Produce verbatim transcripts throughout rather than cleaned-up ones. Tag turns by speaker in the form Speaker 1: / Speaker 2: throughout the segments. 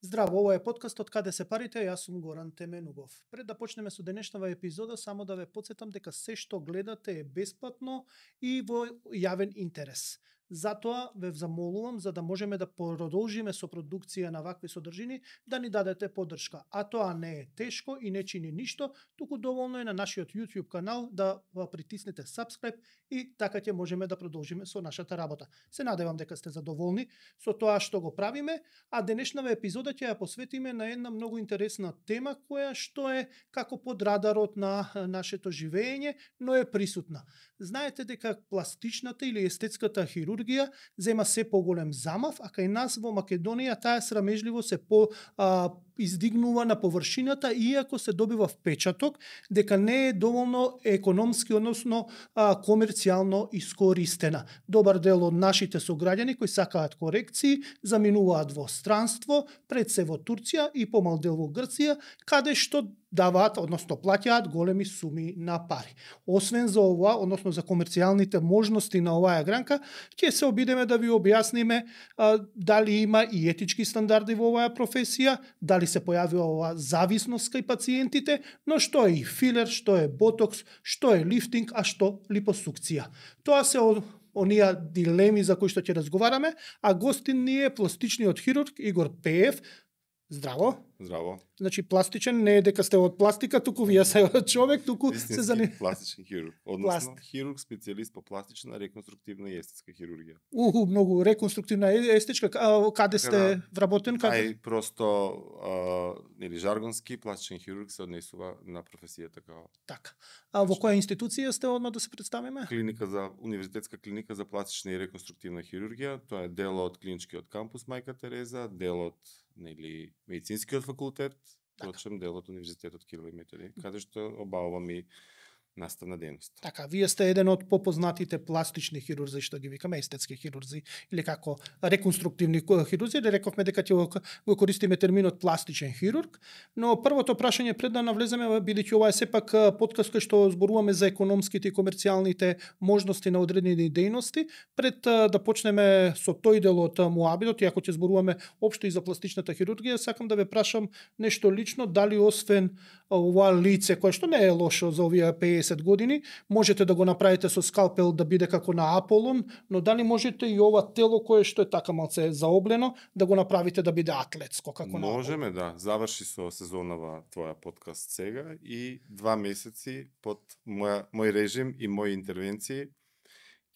Speaker 1: Здраво, ова е подкаст од каде се парите, јас сум Горан Теменугов. Пред да почнеме со денешнава епизода, само да ве потсетам дека се што гледате е бесплатно и во јавен интерес. Затоа ве замолувам, за да можеме да продолжиме со продукција на вакви содржини, да ни дадете поддршка. А тоа не е тешко и не чини ништо, туку доволно е на нашиот YouTube канал да притиснете subscribe и така ќе можеме да продолжиме со нашата работа. Се надевам дека сте задоволни со тоа што го правиме, а денешнава епизода ќе ја посветиме на една многу интересна тема која што е како под радарот на нашето живење, но е присутна. Знаете дека пластичната или естетската хирургија зема се поголем замав, а кај нас во Македонија таа срамежливо се по а, издигнува на површината, иако се добива впечаток дека не е доволно економски, односно а, комерцијално искористена. Добар дел од нашите сограѓани кои сакаат корекции заминуваат во странство, пред се во Турција и помал дел во Грција, каде што даваат, односно плаќаат големи суми на пари. Освен за ова, односно за комерцијалните можности на оваа гранка, ќе се обидеме да ви објасниме а, дали има и етички стандарди во оваа професија, дали се појавила оваа зависност кај пациентите, но што е и филер, што е ботокс, што е лифтинг, а што липосукција. Тоа се од оние дилеми за кои што ќе разговараме, а гостин ни е пластичниот хирург Игор Пеев. Здраво.
Speaker 2: Здраво.
Speaker 1: Значи пластичен не е дека сте од пластика, туку вие се човек, туку
Speaker 2: Вистински
Speaker 1: се заним...
Speaker 2: пластичен хирург, односно
Speaker 1: Пласт.
Speaker 2: хирург специјалист по пластична, реконструктивна и естетска хирургија.
Speaker 1: Уху, многу реконструктивна е- естетичка. А, каде сте
Speaker 2: да.
Speaker 1: вработен? Каде?
Speaker 2: Ај просто а, нели жаргонски пластичен хирург се однесува на професијата као
Speaker 1: Така. А во која институција сте одма да се представиме?
Speaker 2: клиника за универзитетска клиника за пластична и реконструктивна хирургија. Тоа е дел од клиничкиот кампус Мајка Тереза, дел од нели медицинскиот факултет, точем дел од универзитетот Кирил и Методи, каде што обавувам и наставна дејност.
Speaker 1: Така, вие сте еден од попознатите пластични хирурзи, што ги викаме естетски хирурзи, или како реконструктивни хирурзи, или рековме дека ќе го, го користиме терминот пластичен хирург, но првото прашање пред да навлеземе, бидејќи ова е сепак подкаст кој што зборуваме за економските и комерцијалните можности на одредени дејности, пред да почнеме со тој дел од муабитот, иако ќе зборуваме општо и за пластичната хирургија, сакам да ве прашам нешто лично, дали освен ова лице, кое што не е лошо за овие пеесет години, можете да го направите со скалпел да биде како на Аполон, но дали можете и ова тело кое што е така малце заоблено, да го направите да биде атлетско, како на
Speaker 2: Можеме, да. Заврши со сезонава твоја подкаст сега и два месеци под моја, мој режим и мои интервенции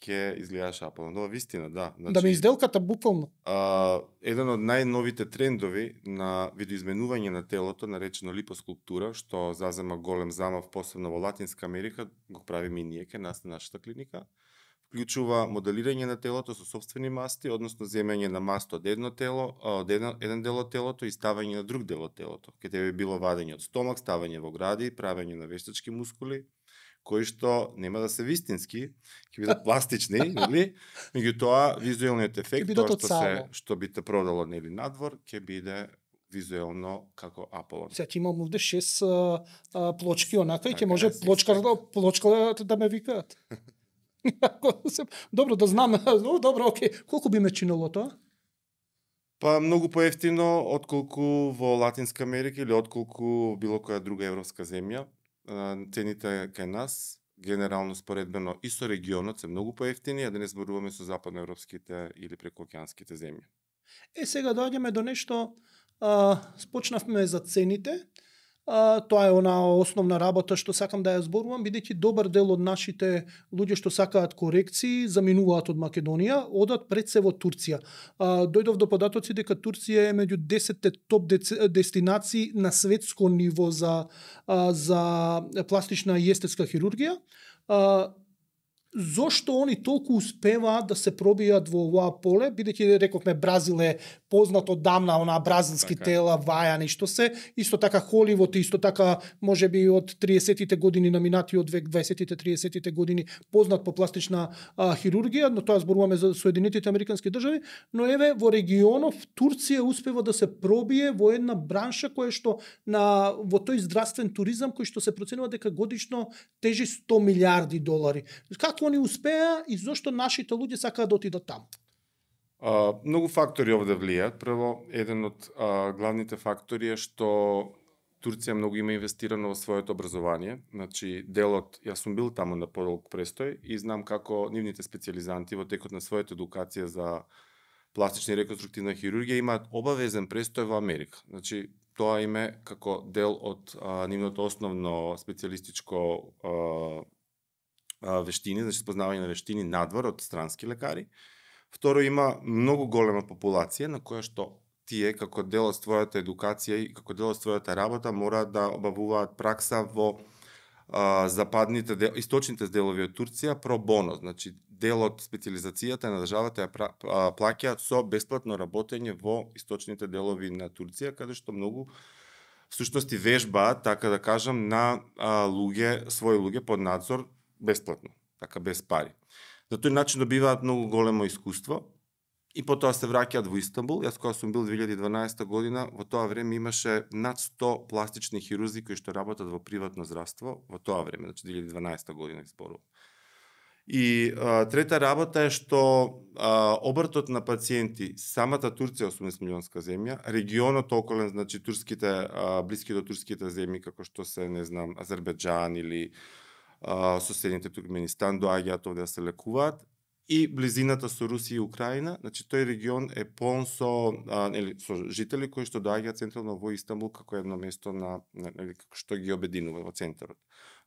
Speaker 2: ќе изгледаш Аполон. Ова вистина, да. Значи,
Speaker 1: Да ме изделката буквално.
Speaker 2: А, еден од најновите трендови на видоизменување на телото, наречено липоскулптура, што зазема голем замав, посебно во Латинска Америка, го правиме и ние ке нас на нашата клиника, вклучува моделирање на телото со сопствени масти, односно земење на маст од едно тело, од еден, еден дел од телото и ставање на друг дел од телото. Ке тебе било вадење од стомак, ставање во гради, правење на вештачки мускули, кои што нема да се вистински, ќе бидат пластични, нели? Меѓутоа визуелниот ефект,
Speaker 1: бидат
Speaker 2: тоа
Speaker 1: од
Speaker 2: што
Speaker 1: само.
Speaker 2: се што би те продало нели надвор, ќе биде визуелно како Аполон.
Speaker 1: Сега ќе имам овде шест а, а, плочки онака и ќе
Speaker 2: Така
Speaker 1: може
Speaker 2: е,
Speaker 1: плочка,
Speaker 2: секси.
Speaker 1: плочка да ме викаат. Добро да знам. О, добро, окей. Колку би ме чинело тоа?
Speaker 2: Па многу поевтино отколку во Латинска Америка или отколку било која друга европска земја. А, Цените кај нас генерално споредбено и со регионот се многу поевтини, а да не зборуваме со западноевропските или прекоокеанските земји.
Speaker 1: Е, сега доаѓаме до нешто, а, спочнавме за цените, а, тоа е она основна работа што сакам да ја зборувам, бидејќи добар дел од нашите луѓе што сакаат корекции, заминуваат од Македонија, одат пред се во Турција. А, дојдов до податоци дека Турција е меѓу десетте топ дец- дестинации на светско ниво за, а, за пластична и естетска хирургија. А, Зошто они толку успеваат да се пробијат во оваа поле, бидејќи рековме Бразил е познат одамна, она бразилски
Speaker 2: Така е.
Speaker 1: тела, вајани, што се, исто така Холивуд, исто така можеби од триесеттите години на минатиот век, дваесеттите триесеттите години познат по пластична а, хирургија, но тоа зборуваме за Соединетите Американски држави, но еве во регионов Турција успева да се пробие во една бранша која што на во тој здравствен туризам кој што се проценува дека годишно тежи сто милиарди долари. Како они успеа и зошто нашите луѓе сакаат да отидат таму?
Speaker 2: А, многу фактори овде влијаат. Прво, еден од а, главните фактори е што Турција многу има инвестирано во своето образование. Значи, делот, јас сум бил таму на подолг престој и знам како нивните специјализанти во текот на својата едукација за пластична и реконструктивна хирургија имаат обавезен престој во Америка. Значи, тоа им е како дел од а, нивното основно специјалистичко а, а, вештини, значи спознавање на вештини надвор од странски лекари. Второ, има многу голема популација на која што тие како дел од својата едукација и како дел од својата работа мораат да обавуваат пракса во а, западните дел, источните делови од Турција про боно, значи дел од специјализацијата на државата ја плаќаат со бесплатно работење во источните делови на Турција, каде што многу всушност и вежбаат, така да кажам, на а, луѓе, своји луѓе под надзор бесплатно, така без пари. На тој начин добиваат многу големо искуство и потоа се враќаат во Истанбул. Јас кога сум бил две илјади и дванаесета година, во тоа време имаше над сто пластични хирурзи кои што работат во приватно здравство во тоа време, значи две илјади и дванаесета година изборувам. И а, трета работа е што а, обртот на пациенти, самата Турција е осумдесет милионска земја, регионот околен, значи турските, а, блиски до турските земји, како што се, не знам, Азербеџан или а, соседните Туркменистан, доаѓаат овде да се лекуваат, и близината со Русија и Украина, значи тој регион е полн со, а, или, со жители кои што доаѓаат централно во Истанбул како едно место на, или, како што ги обединува во центарот.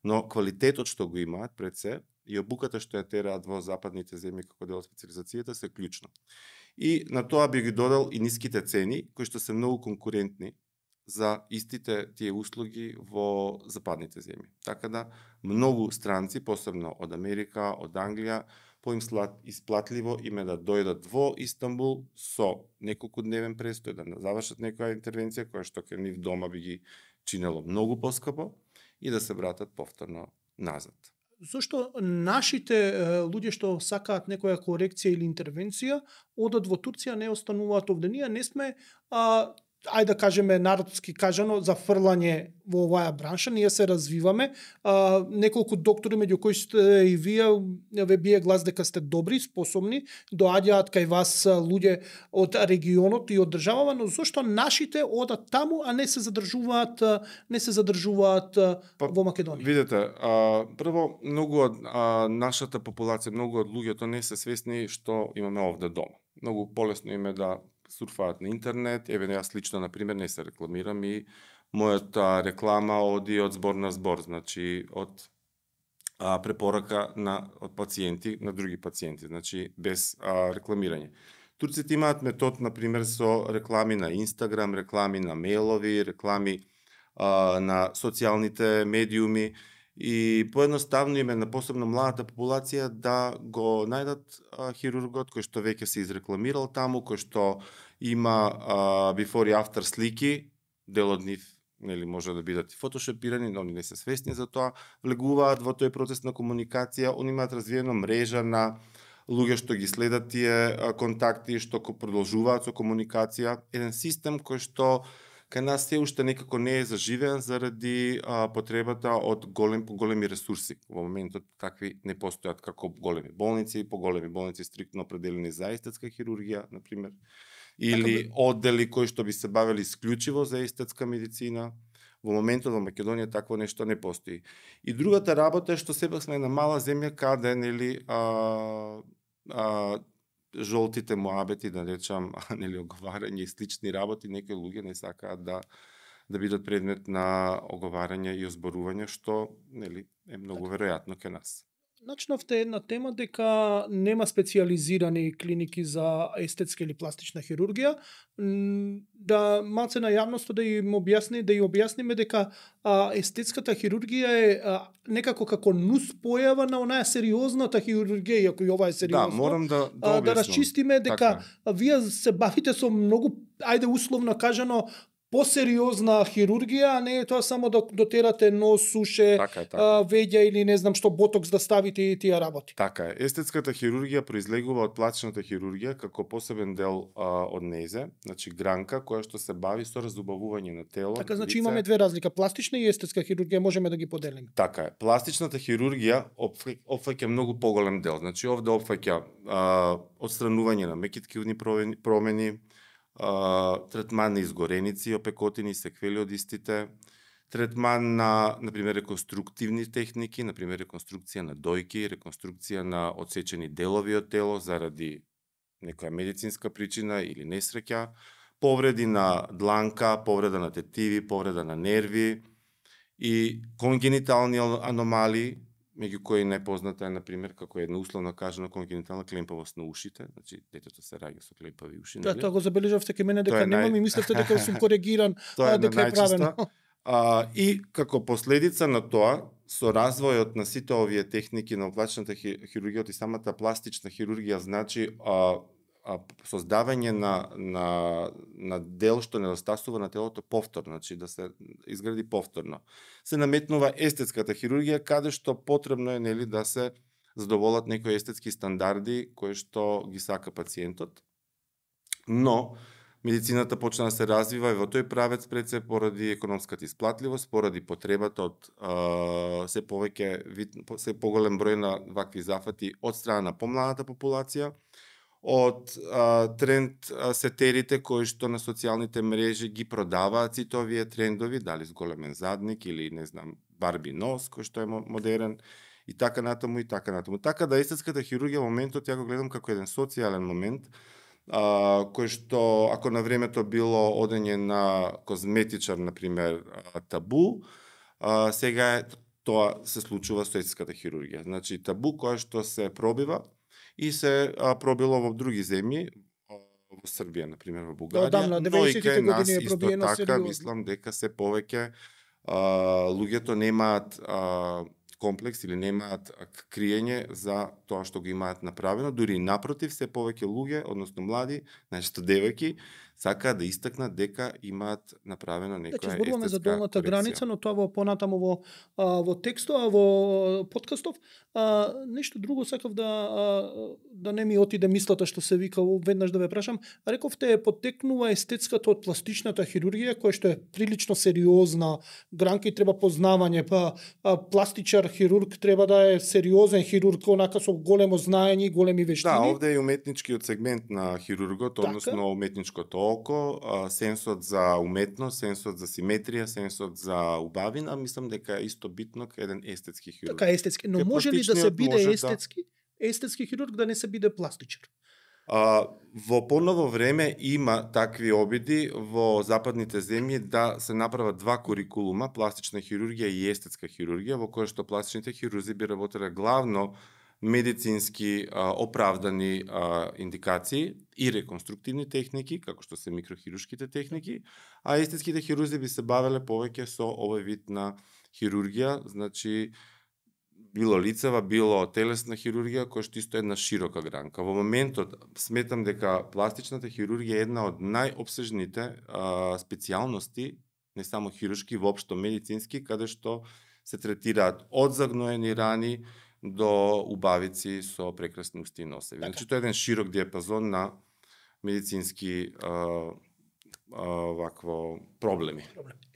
Speaker 2: Но квалитетот што го имаат пред се и обуката што ја тераат во западните земји како дел од специјализацијата се клучно. И на тоа би ги додал и ниските цени, кои што се многу конкурентни за истите тие услуги во западните земји. Така да, многу странци, посебно од Америка, од Англија, поим исплатливо име да дојдат во Истанбул со неколку дневен престој, да завршат некоја интервенција која што кај нив дома би ги чинело многу поскапо и да се вратат повторно назад.
Speaker 1: Зошто нашите е, луѓе што сакаат некоја корекција или интервенција одат во Турција, не остануваат овде? Ние не сме а, ајде да кажеме народски кажано, за фрлање во оваа бранша, ние се развиваме. А, неколку доктори, меѓу кои сте и вие, ве бие глас дека сте добри, способни, доаѓаат кај вас луѓе од регионот и од државава, но зошто нашите одат таму, а не се задржуваат, не се задржуваат па, во Македонија?
Speaker 2: Видете, а, прво, многу од а, нашата популација, многу од луѓето не се свесни што имаме овде дома. Многу полесно им е да сурфаат на интернет, еве јас лично, например, не се рекламирам и мојата реклама оди од збор на збор, значи од а, препорака на од пациенти на други пациенти, значи без а, рекламирање. Турците имаат метод, например, со реклами на Инстаграм, реклами на мејлови, реклами а, на социјалните медиуми, и поедноставно име на посебно младата популација да го најдат а, хирургот кој што веќе се изрекламирал таму, кој што има а, before и after слики, дел од нив нели може да бидат и фотошопирани, но они не се свесни за тоа, влегуваат во тој процес на комуникација, они имаат развиена мрежа на луѓе што ги следат тие а, контакти, што продолжуваат со комуникација, еден систем кој што кај нас се уште некако не е заживен заради а, потребата од голем големи ресурси. Во моментот такви не постојат како големи болници, поголеми болници стриктно определени за естетска хирургија, например, или оддели кои што би се бавели исклучиво за естетска медицина. Во моментот во Македонија такво нешто не постои. И другата работа е што сепак сме една мала земја каде нели а, а, жолтите муабети, да речам, нели оговарање и слични работи, некои луѓе не сакаат да да бидат предмет на оговарање и озборување, што нели е многу веројатно кај нас.
Speaker 1: Начнавте една тема дека нема специјализирани клиники за естетска или пластична хирургија. Да малце на јавноста да им објасни, да ја објасниме дека а, естетската хирургија е а, некако како нус појава на онаја сериозната хирургија, иако и ова е сериозно.
Speaker 2: Да, морам да да,
Speaker 1: а, да расчистиме дека
Speaker 2: така.
Speaker 1: Вие се бавите со многу, ајде условно кажано, посериозна хирургија, а не е тоа само да дотерате нос, суше,
Speaker 2: Така е, така.
Speaker 1: а, веѓа или не знам што ботокс да ставите и тие работи.
Speaker 2: Така е. Естетската хирургија произлегува од пластичната хирургија како посебен дел а, од незе, значи гранка која што се бави со разубавување на тело.
Speaker 1: Така, значи
Speaker 2: лице.
Speaker 1: имаме две разлика, пластична и естетска хирургија, можеме да ги поделиме.
Speaker 2: Така е. Пластичната хирургија опфаќа многу поголем дел. Значи овде опфаќа а, отстранување на меки ткивни промени, а, третман на изгореници, опекотини, секвели од истите, третман на, например, реконструктивни техники, например, реконструкција на дојки, реконструкција на одсечени делови од тело заради некоја медицинска причина или несреќа, повреди на дланка, повреда на тетиви, повреда на нерви и конгенитални аномалии, меѓу кои најпозната е, например, како една условно кажано конгенитална клемпавост на ушите, значи детето се раѓа со клемпави уши.
Speaker 1: Да, тоа го забележавте кај мене дека
Speaker 2: Тоа е
Speaker 1: немам
Speaker 2: нај-
Speaker 1: и мислевте дека сум коригиран,
Speaker 2: Тоа
Speaker 1: а,
Speaker 2: е
Speaker 1: дека е правено.
Speaker 2: најчесто. А, и како последица на тоа, со развојот на сите овие техники на пластичната хирургија и самата пластична хирургија, значи а, а, создавање на, на, на дел што недостасува на телото повторно, значи да се изгради повторно. Се наметнува естетската хирургија, каде што потребно е, нели, да се задоволат некои естетски стандарди кои што ги сака пациентот. Но медицината почна да се развива и во тој правец пред се поради економската исплатливост, поради потребата од а, се повеќе вид, се поголем број на вакви зафати од страна на помладата популација, од а, тренд а, сетерите кои што на социјалните мрежи ги продаваат сите овие трендови, дали зголемен задник или не знам барби нос кој што е модерен и така натаму и така натаму. Така да естетската хирургија во моментот ја го гледам како еден социјален момент, а, кој што ако на времето било одење на козметичар, например, табу, а, сега е, тоа се случува со естетската хирургија. Значи табу која што се пробива и се а, пробило во други земји, во Србија, например, во Бугарија,
Speaker 1: Одамна,
Speaker 2: но и
Speaker 1: деветдесетите
Speaker 2: кај нас
Speaker 1: години е
Speaker 2: исто
Speaker 1: пробиено
Speaker 2: така,
Speaker 1: сериозно.
Speaker 2: мислам дека се повеќе а, луѓето немаат а, комплекс или немаат криење за тоа што го имаат направено, дури напротив, се повеќе луѓе, односно млади, најчесто девојки, сакаат да истакнат дека имаат направено некоја
Speaker 1: Значи,
Speaker 2: естетска
Speaker 1: зборуваме за долната
Speaker 2: корекција.
Speaker 1: граница, но тоа во понатаму во а, во текстот, а во подкастов, а, нешто друго сакав да а, да не ми отиде мислата што се вика веднаш да ве прашам. Рековте потекнува естетската од пластичната хирургија, која што е прилично сериозна гранка и треба познавање, па а, пластичар хирург треба да е сериозен хирург, онака со големо знаење и големи вештини.
Speaker 2: Да, овде е и уметничкиот сегмент на хирургот,
Speaker 1: Така.
Speaker 2: односно уметничкото око, а, сенсот за уметност, сенсот за симетрија, сенсот за убавина, мислам дека е исто битно кај еден естетски хирург.
Speaker 1: Така естетски, но
Speaker 2: Кај
Speaker 1: може ли да се
Speaker 2: пластичниот
Speaker 1: биде
Speaker 2: може да-
Speaker 1: естетски? Естетски хирург да не се биде пластичар.
Speaker 2: А, во поново време има такви обиди во западните земји да се направат два курикулума, пластична хирургија и естетска хирургија, во која што пластичните хирурзи би работеле главно медицински а, оправдани а, индикации и реконструктивни техники, како што се микрохируршките техники, а естетските хирурзи би се бавеле повеќе со овој вид на хирургија, значи било лицева, било телесна хирургија, која што исто е една широка гранка. Во моментот сметам дека пластичната хирургија е една од најопсежните а, специјалности, не само хируршки, воопшто медицински, каде што се третираат од загноени рани до убавици со прекрасни усти и носеви.
Speaker 1: Така.
Speaker 2: Значи тоа е еден широк диапазон на медицински а, а, вакво проблеми.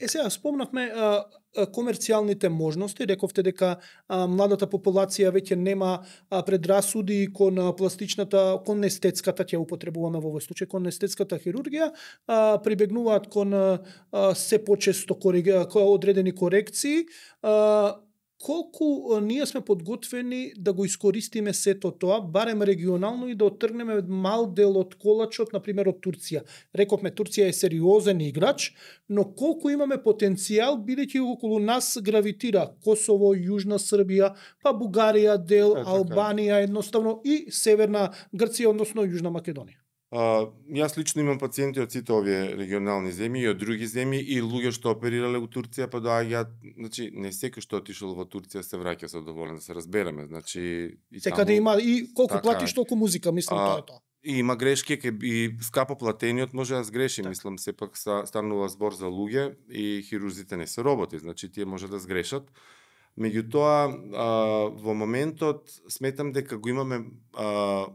Speaker 1: Е сега спомнавме а, а, комерцијалните можности, рековте дека а, младата популација веќе нема а, предрасуди кон а, пластичната, кон естетската, ќе употребуваме во овој случај, кон естетската хирургија, а, прибегнуваат кон а, а, се почесто кориги, одредени корекции. А, колку а, ние сме подготвени да го искористиме сето тоа, барем регионално и да оттргнеме мал дел од колачот, например од Турција. Рековме, Турција е сериозен играч, но колку имаме потенцијал, бидејќи околу нас гравитира Косово, Јужна Србија, па Бугарија дел,
Speaker 2: Е, така.
Speaker 1: Албанија едноставно и Северна Грција, односно Јужна Македонија.
Speaker 2: А, јас лично имам пациенти од сите овие регионални земји и од други земји и луѓе што оперирале у Турција па доаѓаат, значи не секој што отишол во Турција се враќа задоволен, да се разбереме, значи и
Speaker 1: Секаде
Speaker 2: таму-
Speaker 1: има и колку
Speaker 2: Така
Speaker 1: платиш
Speaker 2: е.
Speaker 1: толку музика, мислам
Speaker 2: А,
Speaker 1: тоа е тоа.
Speaker 2: И има грешки, ке и скапо платениот може да сгреши,
Speaker 1: Так.
Speaker 2: мислам, сепак станува збор за луѓе и хирурзите не се роботи, значи тие може да сгрешат. Меѓутоа, во моментот сметам дека го имаме а,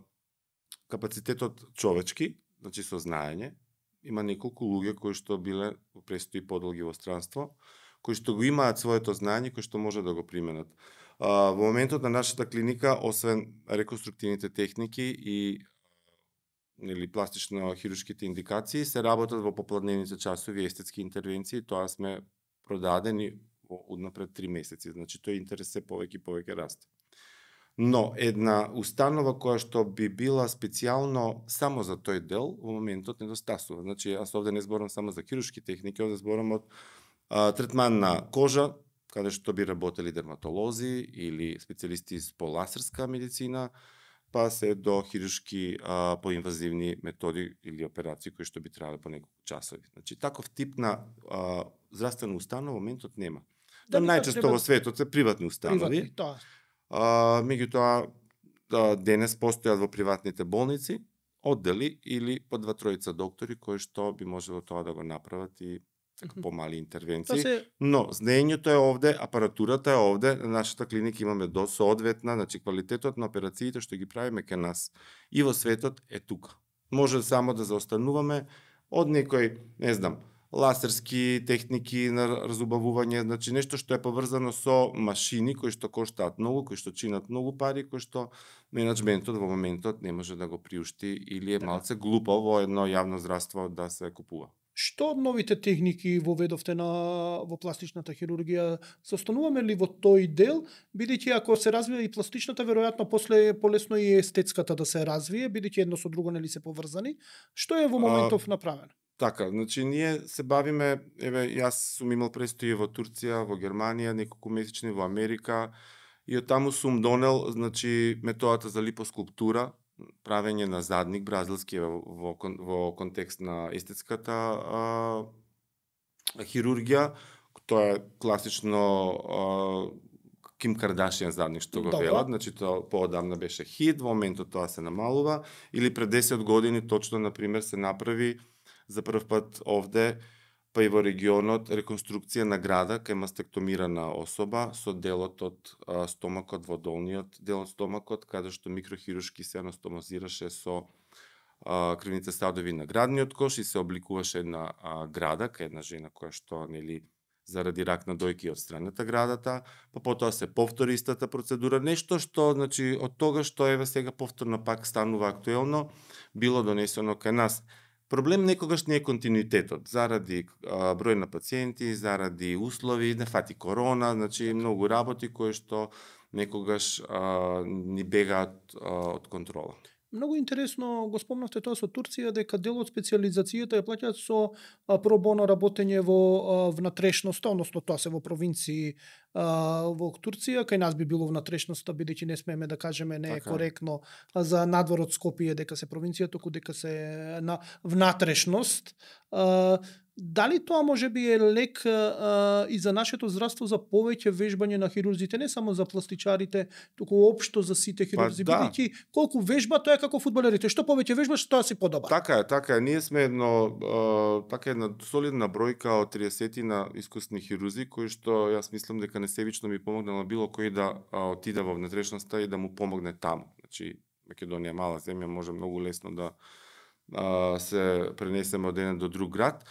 Speaker 2: капацитетот човечки, значи со знаење. Има неколку луѓе кои што биле престои подолги во странство, кои што го имаат своето знаење, кои што може да го применат. А, во моментот на нашата клиника, освен реконструктивните техники и или пластично-хируршките индикации, се работат во попладневните часови естетски интервенции, тоа сме продадени во однапред три месеци, значи тој интерес се повеќе и повеќе расте. Но една установа која што би била специјално само за тој дел, во моментот недостасува. Значи, јас овде не зборам само за хируршки техники, овде зборам од а, третман на кожа, каде што би работели дерматолози или специјалисти по лазерска медицина, па се до хируршки а, поинвазивни методи или операции кои што би требале по неколку часови. Значи, таков тип на а, здравствена установа во моментот нема. Да, најчесто треба... во светот се приватни установи.
Speaker 1: Приватни, тоа.
Speaker 2: А, меѓутоа, да, денес постојат во приватните болници оддели или по два тројца доктори кои што би можело тоа да го направат и така помали интервенции. Се... Но знаењето е овде, апаратурата е овде, на нашата клиника имаме до соодветна, значи квалитетот на операциите што ги правиме кај нас и во светот е тука. Може само да заостануваме од некој, не знам, лазерски техники на разубавување, значи нешто што е поврзано со машини кои што коштаат многу, кои што чинат многу пари, кои што менаџментот во моментот не може да го приушти или е малце глупо во едно јавно здравство да се купува.
Speaker 1: Што од новите техники воведовте на во пластичната хирургија? Состануваме ли во тој дел, бидејќи ако се развива и пластичната, веројатно после полесно и естетската да се развие, бидејќи едно со друго нели се поврзани? Што е во моментов а... направено?
Speaker 2: Така, значи ние се бавиме, еве јас сум имал престои во Турција, во Германија, неколку месечни во Америка и од таму сум донел, значи методата за липоскулптура, правење на задник бразилски во, во, во контекст на естетската а, хирургија. Тоа е класично а, Ким Кардашијан задник што го велат, значи тоа поодамна беше хит, во моментот тоа се намалува, или пред десет години точно, например, се направи за прв пат овде, па и во регионот, реконструкција на града кај мастектомирана особа со делот од а, стомакот во долниот дел од стомакот, каде што микрохируршки се анастомозираше со а, крвните садови на градниот кош и се обликуваше една а, града кај една жена која што нели заради рак на дојки од страната градата, па потоа се повтори истата процедура, нешто што значи од тога што еве сега повторно пак станува актуелно, било донесено кај нас. Проблем некогаш не е континуитетот, заради а, број на пациенти, заради услови, не фати корона, значи многу работи кои што некогаш а, ни бегаат а, од контрола.
Speaker 1: Многу интересно го спомнавте тоа со Турција, дека дел од специјализацијата ја плаќаат со пробоно работење во внатрешноста, односно тоа се во провинции а, во Турција, кај нас би било внатрешноста, бидејќи не смееме да кажеме, не е така коректно за надвор од Скопје дека се провинција, току дека се на внатрешност. А, дали тоа може би е лек а, и за нашето здравство за повеќе вежбање на хирурзите, не само за пластичарите, туку општо за сите хирурзи,
Speaker 2: па, да.
Speaker 1: бидејќи колку вежба тоа е како фудбалерите, што повеќе вежбаш, тоа си подобар.
Speaker 2: Така е, така е. Ние сме едно а, така една солидна бројка од триесетина искусни хирурзи кои што јас мислам дека несебично ми помогнало било кој да а, отиде во внатрешноста и да му помогне таму. Значи Македонија мала земја, може многу лесно да а, се пренесеме од еден до друг град.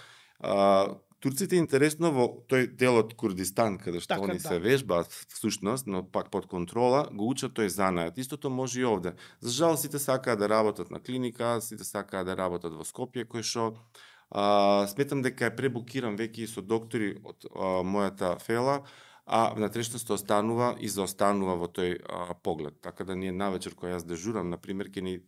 Speaker 2: А, турците интересно во тој дел од Курдистан, каде што така, они да. се вежбаат всушност, но пак под контрола, го учат тој занаат. Истото може и овде. За жал сите сакаат да работат на клиника, сите сакаат да работат во Скопје, кој што а, сметам дека е пребукиран веќе и со доктори од а, мојата фела, а внатрешноста останува и заостанува во тој а, поглед. Така да ние навечер кој јас дежурам, на пример, ќе ни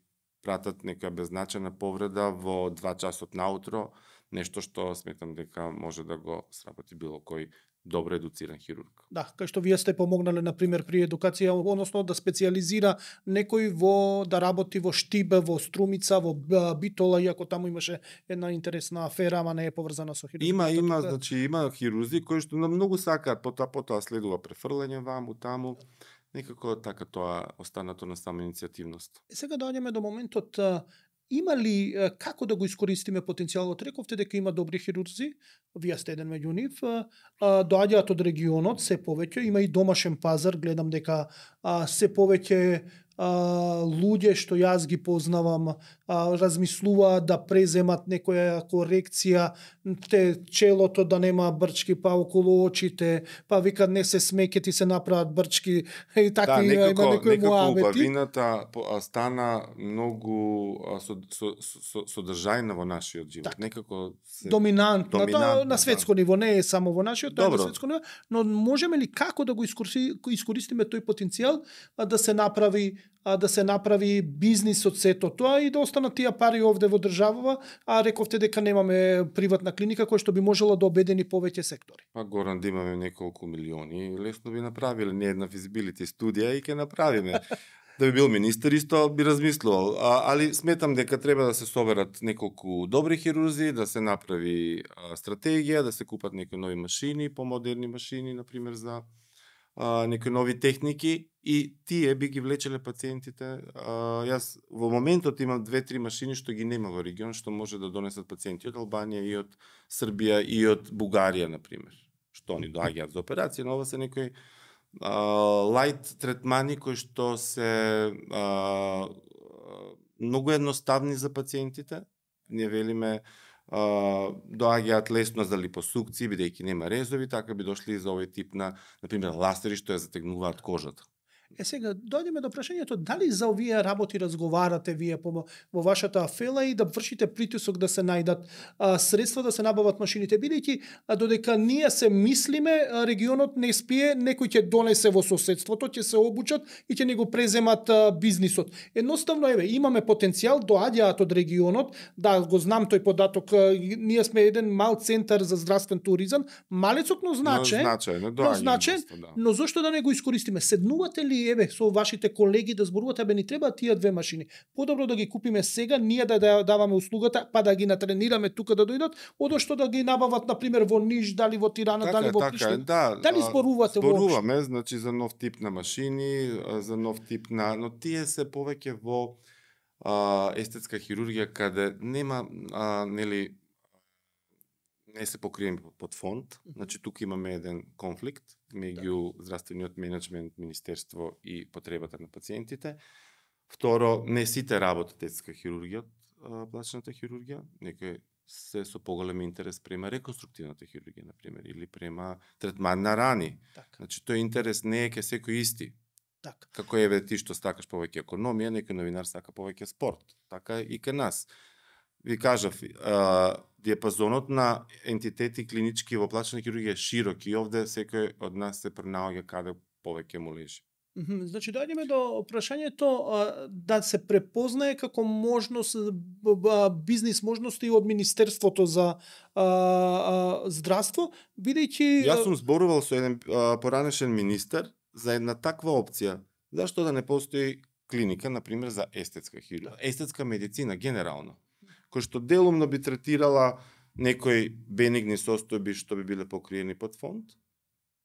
Speaker 2: пратат некоја беззначена повреда во два часот наутро, нешто што сметам дека може да го сработи било кој добро едуциран хирург.
Speaker 1: Да, кај што вие сте помогнале на пример при едукација, односно да специјализира некој во да работи во Штибе, во Струмица, во Битола, иако таму имаше една интересна афера, ама не е поврзана со хирургија.
Speaker 2: Има, има, тука... значи има хирурзи кои што на многу сакаат, потоа потоа следува префрлање ваму таму. Некако така тоа останато на само иницијативност.
Speaker 1: Сега доаѓаме до моментот има ли е, како да го искористиме потенцијалот? Рековте дека има добри хирурзи, вие сте еден меѓу нив, е, а, доаѓаат од регионот, се повеќе, има и домашен пазар, гледам дека а, се повеќе а, луѓе што јас ги познавам а, размислуваат да преземат некоја корекција, те челото да нема брчки, па околу очите, па викат не се смеке, ти се направат брчки и така
Speaker 2: Да,
Speaker 1: има
Speaker 2: некако,
Speaker 1: некои
Speaker 2: некако
Speaker 1: муамети.
Speaker 2: убавината по- а, стана многу а, со, со, со, содржајна во нашиот живот.
Speaker 1: Така.
Speaker 2: Некако се...
Speaker 1: Доминантна,
Speaker 2: доминантна,
Speaker 1: тоа на светско ниво, не е само во нашиот, тоа е на
Speaker 2: Добро.
Speaker 1: светско ниво, но можеме ли како да го искористи- искористиме тој потенцијал а, да се направи а, да се направи бизнис од сето тоа и да останат тие пари овде во државава, а рековте дека немаме приватна клиника која што би можела да обедини повеќе сектори.
Speaker 2: Па Горан, да имаме неколку милиони, лесно би направиле не една физибилити студија и ќе направиме. Да би бил министер исто би размислувал, а, али сметам дека треба да се соберат неколку добри хирурзи, да се направи а, стратегија, да се купат некои нови машини, помодерни машини, например за а, некои нови техники и тие би ги влечеле пациентите. А, јас во моментот имам две-три машини што ги нема во регион, што може да донесат пациенти од Албанија и од Србија и од Бугарија, например. Што они доаѓаат за операција, но ова се некои лајт третмани кои што се а, многу едноставни за пациентите. Ние велиме а, доаѓаат лесно за липосукции, бидејќи нема резови, така би дошли и за овој тип на, например, ластери што ја затегнуваат кожата.
Speaker 1: Е сега, дојдеме до прашањето, дали за овие работи разговарате вие по, во вашата афела и да вршите притисок да се најдат а, средства да се набават машините, бидејќи а, додека ние се мислиме, а, регионот не спие, некој ќе донесе во соседството, ќе се обучат и ќе не го преземат а, бизнисот. Едноставно, еве, имаме потенцијал, доаѓаат од регионот, да, го знам тој податок, а, ние сме еден мал центар за здравствен туризам, малецок, но значаен,
Speaker 2: Но значаен,
Speaker 1: но
Speaker 2: доаѓа
Speaker 1: значаен,
Speaker 2: доста, да.
Speaker 1: но зошто да не го искористиме? Седнувате ли еве со вашите колеги да зборувате, абе ни треба тие две машини. Подобро да ги купиме сега, ние да, да даваме услугата, па да ги натренираме тука да дојдат, одошто да ги набават на пример во Ниш, дали во Тирана,
Speaker 2: Така,
Speaker 1: дали во
Speaker 2: така,
Speaker 1: Приштина.
Speaker 2: да.
Speaker 1: Дали зборувате воопшто?
Speaker 2: Зборуваме, значи за нов тип на машини, а, за нов тип на, но тие се повеќе во а, естетска хирургија каде нема а, нели не се покрием под фонд. Значи тука имаме еден конфликт меѓу здравствениот менеджмент, министерство и потребата на пациентите. Второ, не сите работат естетска хирургија, плачната хирургија, некои се со поголем интерес према реконструктивната хирургија, например, или према третман на рани.
Speaker 1: Така.
Speaker 2: Значи тој интерес не е ке секој исти.
Speaker 1: Така.
Speaker 2: Како еве ти што стакаш повеќе економија, некој новинар сака повеќе спорт. Така и ке нас. Ви кажав, а, диапазонот на ентитети клинички во плачна хирургија е широк и овде секој од нас се пренаоѓа каде повеќе му лежи.
Speaker 1: Мгм, Значи, доаѓаме до прашањето а, да се препознае како можност, б- б- бизнис можности од Министерството за а, а, здравство, бидејќи...
Speaker 2: Јас сум зборувал со еден а, поранешен министер за една таква опција. Зашто да не постои клиника, например, за естетска хирургија, естетска медицина генерално, кој што делумно би третирала некои бенигни состојби што би биле покриени под фонд,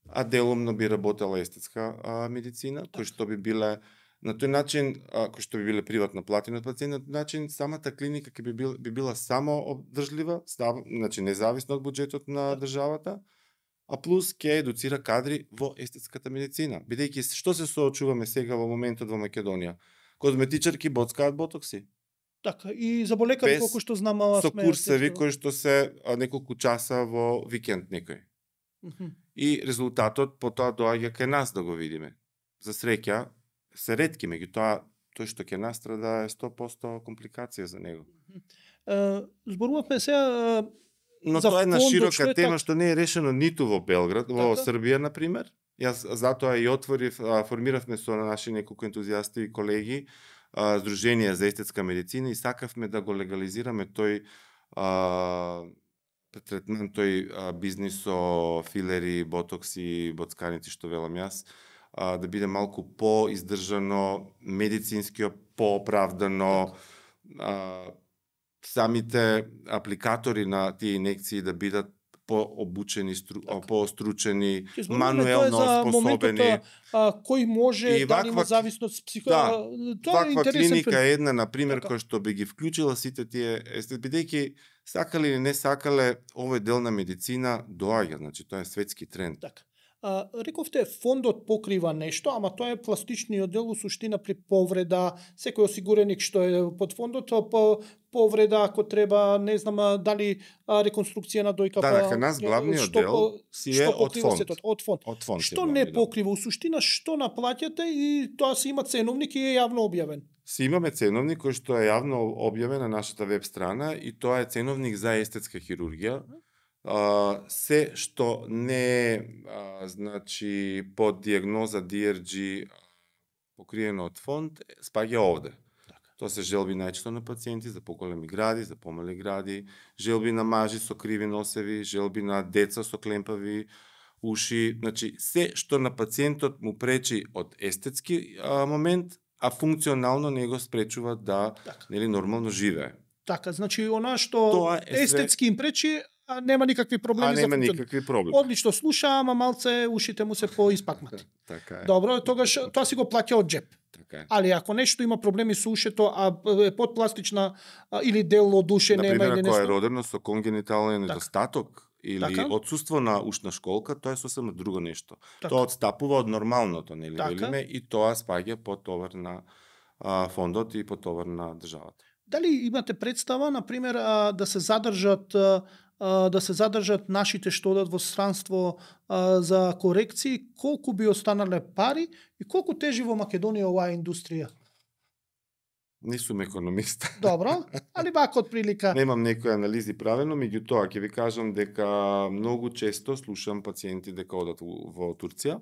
Speaker 2: а делумно би работела естетска а, медицина, кој што би биле на тој начин, а, кој што би биле приватно платени од пациент, на тој начин самата клиника ќе би, бил, би била само обдржлива, став, значи независно од буџетот на државата, а плюс ќе едуцира кадри во естетската медицина. Бидејќи што се соочуваме сега во моментот во Македонија? Козметичарки боцкаат ботокси.
Speaker 1: Така, и заболекари,
Speaker 2: Без-
Speaker 1: колку што знам, ала
Speaker 2: Со
Speaker 1: сме...
Speaker 2: курсеви кои што се а, неколку часа во викенд некој.
Speaker 1: Мгм.
Speaker 2: И резултатот потоа доаѓа кај нас да го видиме. За среќа се ретки, меѓутоа тој што ќе настрада е сто проценти компликација за него.
Speaker 1: Е, Зборувавме сега...
Speaker 2: Но
Speaker 1: За
Speaker 2: тоа е една
Speaker 1: фондот,
Speaker 2: широка
Speaker 1: што е
Speaker 2: тема
Speaker 1: така?
Speaker 2: што не е решено ниту во Белград, во
Speaker 1: Така.
Speaker 2: Србија например. Јас затоа и отворив, а, формиравме со наши неколку ентузијасти и колеги а, Сдружение за естетска медицина и сакавме да го легализираме тој а, третман, тој а, бизнис со филери, ботокси, боцканици што велам јас, а, да биде малку по-издржано, медицински по-оправдано, а, самите апликатори на тие инекции да бидат пообучени, стру,
Speaker 1: Така.
Speaker 2: поостручени,
Speaker 1: Ќе зборуваме,
Speaker 2: мануелно
Speaker 1: тоа е за
Speaker 2: способени.
Speaker 1: моментот, а, кој може
Speaker 2: И
Speaker 1: да има
Speaker 2: ваква-
Speaker 1: зависност психо...
Speaker 2: Да,
Speaker 1: тоа е
Speaker 2: Ваква
Speaker 1: интересен
Speaker 2: клиника
Speaker 1: филм.
Speaker 2: е една, например,
Speaker 1: Така.
Speaker 2: која што би ги вклучила сите тие, есте, бидејќи сакале или не сакале, овој дел на медицина доаѓа, значи тоа е светски тренд.
Speaker 1: Така. А, рековте, фондот покрива нешто, ама тоа е пластичниот дел, во суштина при повреда, секој осигуреник што е под фондот, по повреда, ако треба, не знам, а, дали а, реконструкција на дојка,
Speaker 2: Да,
Speaker 1: па,
Speaker 2: дека нас главниот
Speaker 1: што,
Speaker 2: дел
Speaker 1: по-
Speaker 2: си е
Speaker 1: што
Speaker 2: од
Speaker 1: покрива
Speaker 2: фонд.
Speaker 1: сетот, од фонд.
Speaker 2: Од фонд си
Speaker 1: Што
Speaker 2: главни
Speaker 1: не
Speaker 2: дел.
Speaker 1: покрива, у суштина, што наплаќате и тоа си има ценовник и е јавно објавен.
Speaker 2: Си имаме ценовник кој што е јавно објавен на нашата веб страна и тоа е ценовник за естетска хирургија. А, се што не е а, значи под диагноза Ди Ер Джи покриено од фонд спаѓа овде. Тоа се желби најчесто на пациенти за поголеми гради, за помали гради, желби на мажи со криви носеви, желби на деца со клемпави уши, значи се што на пациентот му пречи од естетски а, момент, а функционално не го спречува да
Speaker 1: Така.
Speaker 2: нели нормално живее.
Speaker 1: Така, значи она што
Speaker 2: Тоа е све-
Speaker 1: естетски им пречи, а нема никакви проблеми
Speaker 2: А
Speaker 1: за
Speaker 2: нема
Speaker 1: функцион.
Speaker 2: никакви проблеми.
Speaker 1: Одлично слуша, ама малце ушите му се поиспакнати.
Speaker 2: Така е.
Speaker 1: Добро, тогаш тоа си го плаќа од джеп.
Speaker 2: Така е.
Speaker 1: Али ако нешто има проблеми со ушето, а е подпластична а, или дел од уше нема
Speaker 2: Например,
Speaker 1: или
Speaker 2: ако е
Speaker 1: нешто.
Speaker 2: родено со конгенитален
Speaker 1: Така.
Speaker 2: недостаток или
Speaker 1: Така.
Speaker 2: отсуство на ушна школка, тоа е сосема друго нешто.
Speaker 1: Така.
Speaker 2: Тоа одстапува од нормалното, нели
Speaker 1: Така.
Speaker 2: велиме, и тоа спаѓа под товар на а, фондот и под товар на државата.
Speaker 1: Дали имате представа, на пример, а, да се задржат а, а, да се задржат нашите што одат во странство а, за корекции, колку би останале пари и колку тежи во Македонија оваа индустрија?
Speaker 2: Не сум економист.
Speaker 1: Добро, али вака од прилика.
Speaker 2: Немам некои анализи правено, меѓутоа ќе ви кажам дека многу често слушам пациенти дека одат во Турција.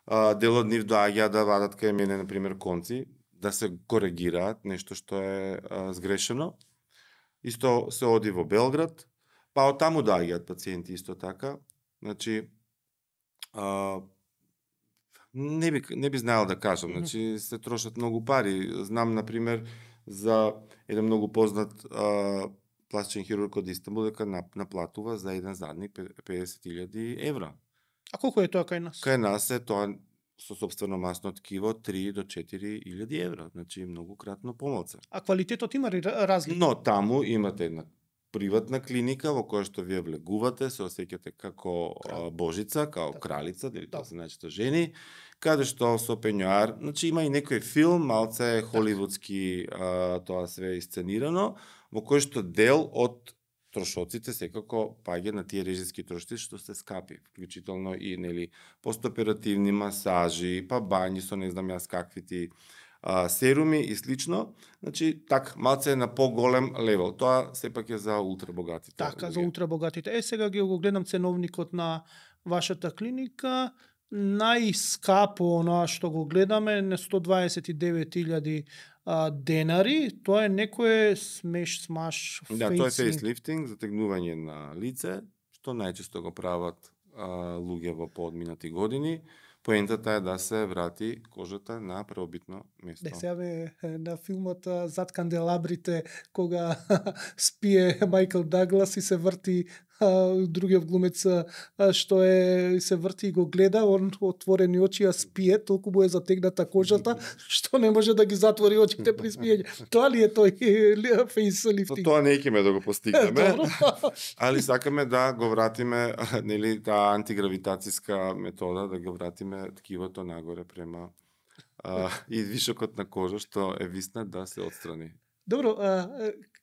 Speaker 2: А, дел од нив доаѓа да вадат кај мене, на пример, конци, да се коригираат нешто што е а, сгрешено. Исто се оди во Белград, па од таму доаѓаат пациенти исто така. Значи, а, не би не би знаел да кажам, значи се трошат многу пари. Знам на пример за еден многу познат а, пластичен хирург од Истанбул дека наплатува за еден задник педесет илјади евра.
Speaker 1: А колку е тоа кај нас?
Speaker 2: Кај нас е тоа со собствено масно ткиво три до четири илјади евра, значи многу кратно помалце.
Speaker 1: А квалитетот има ли разлика?
Speaker 2: Но таму имате една приватна клиника во која што вие влегувате, се осеќате како а, божица, како
Speaker 1: Така.
Speaker 2: кралица, дали тоа
Speaker 1: Да.
Speaker 2: се најчесто жени, каде што со пењоар, значи има и некој филм, малце холивудски а, тоа свеисценирано, во кој што дел од трошоците секако паѓа на тие режиски трошоци што се скапи, вклучително и нели постоперативни масажи, па бањи со не знам јас какви ти а, серуми и слично. Значи, так, малце е на поголем левел. Тоа сепак е за ултрабогатите.
Speaker 1: Така, за
Speaker 2: луѓе.
Speaker 1: ултрабогатите. Е, сега ги го гледам ценовникот на вашата клиника. Најскапо оноа што го гледаме на сто дваесет и девет илјади а, денари. Тоа е некое смеш, смаш,
Speaker 2: Да, тоа е
Speaker 1: фейслифт.
Speaker 2: фейслифтинг, затегнување на лице, што најчесто го прават а, луѓе во поодминати години. Поентата е да се врати кожата на преобитно место.
Speaker 1: Не, сега бе, на филмот а, Зад канделабрите, кога спие Майкл Даглас и се врти а, другиот глумец а, што е се врти и го гледа, он отворени очи, а спие, толку му е затегната кожата, што не може да ги затвори очите при спиење. Тоа ли е тој
Speaker 2: Со
Speaker 1: фейслифтинг?
Speaker 2: тоа не ќе да го постигнеме,
Speaker 1: Добро.
Speaker 2: али сакаме да го вратиме, нели, таа антигравитацијска метода, да го вратиме ткивото нагоре према а, и вишокот на кожа што е виснат да се отстрани.
Speaker 1: Добро, а,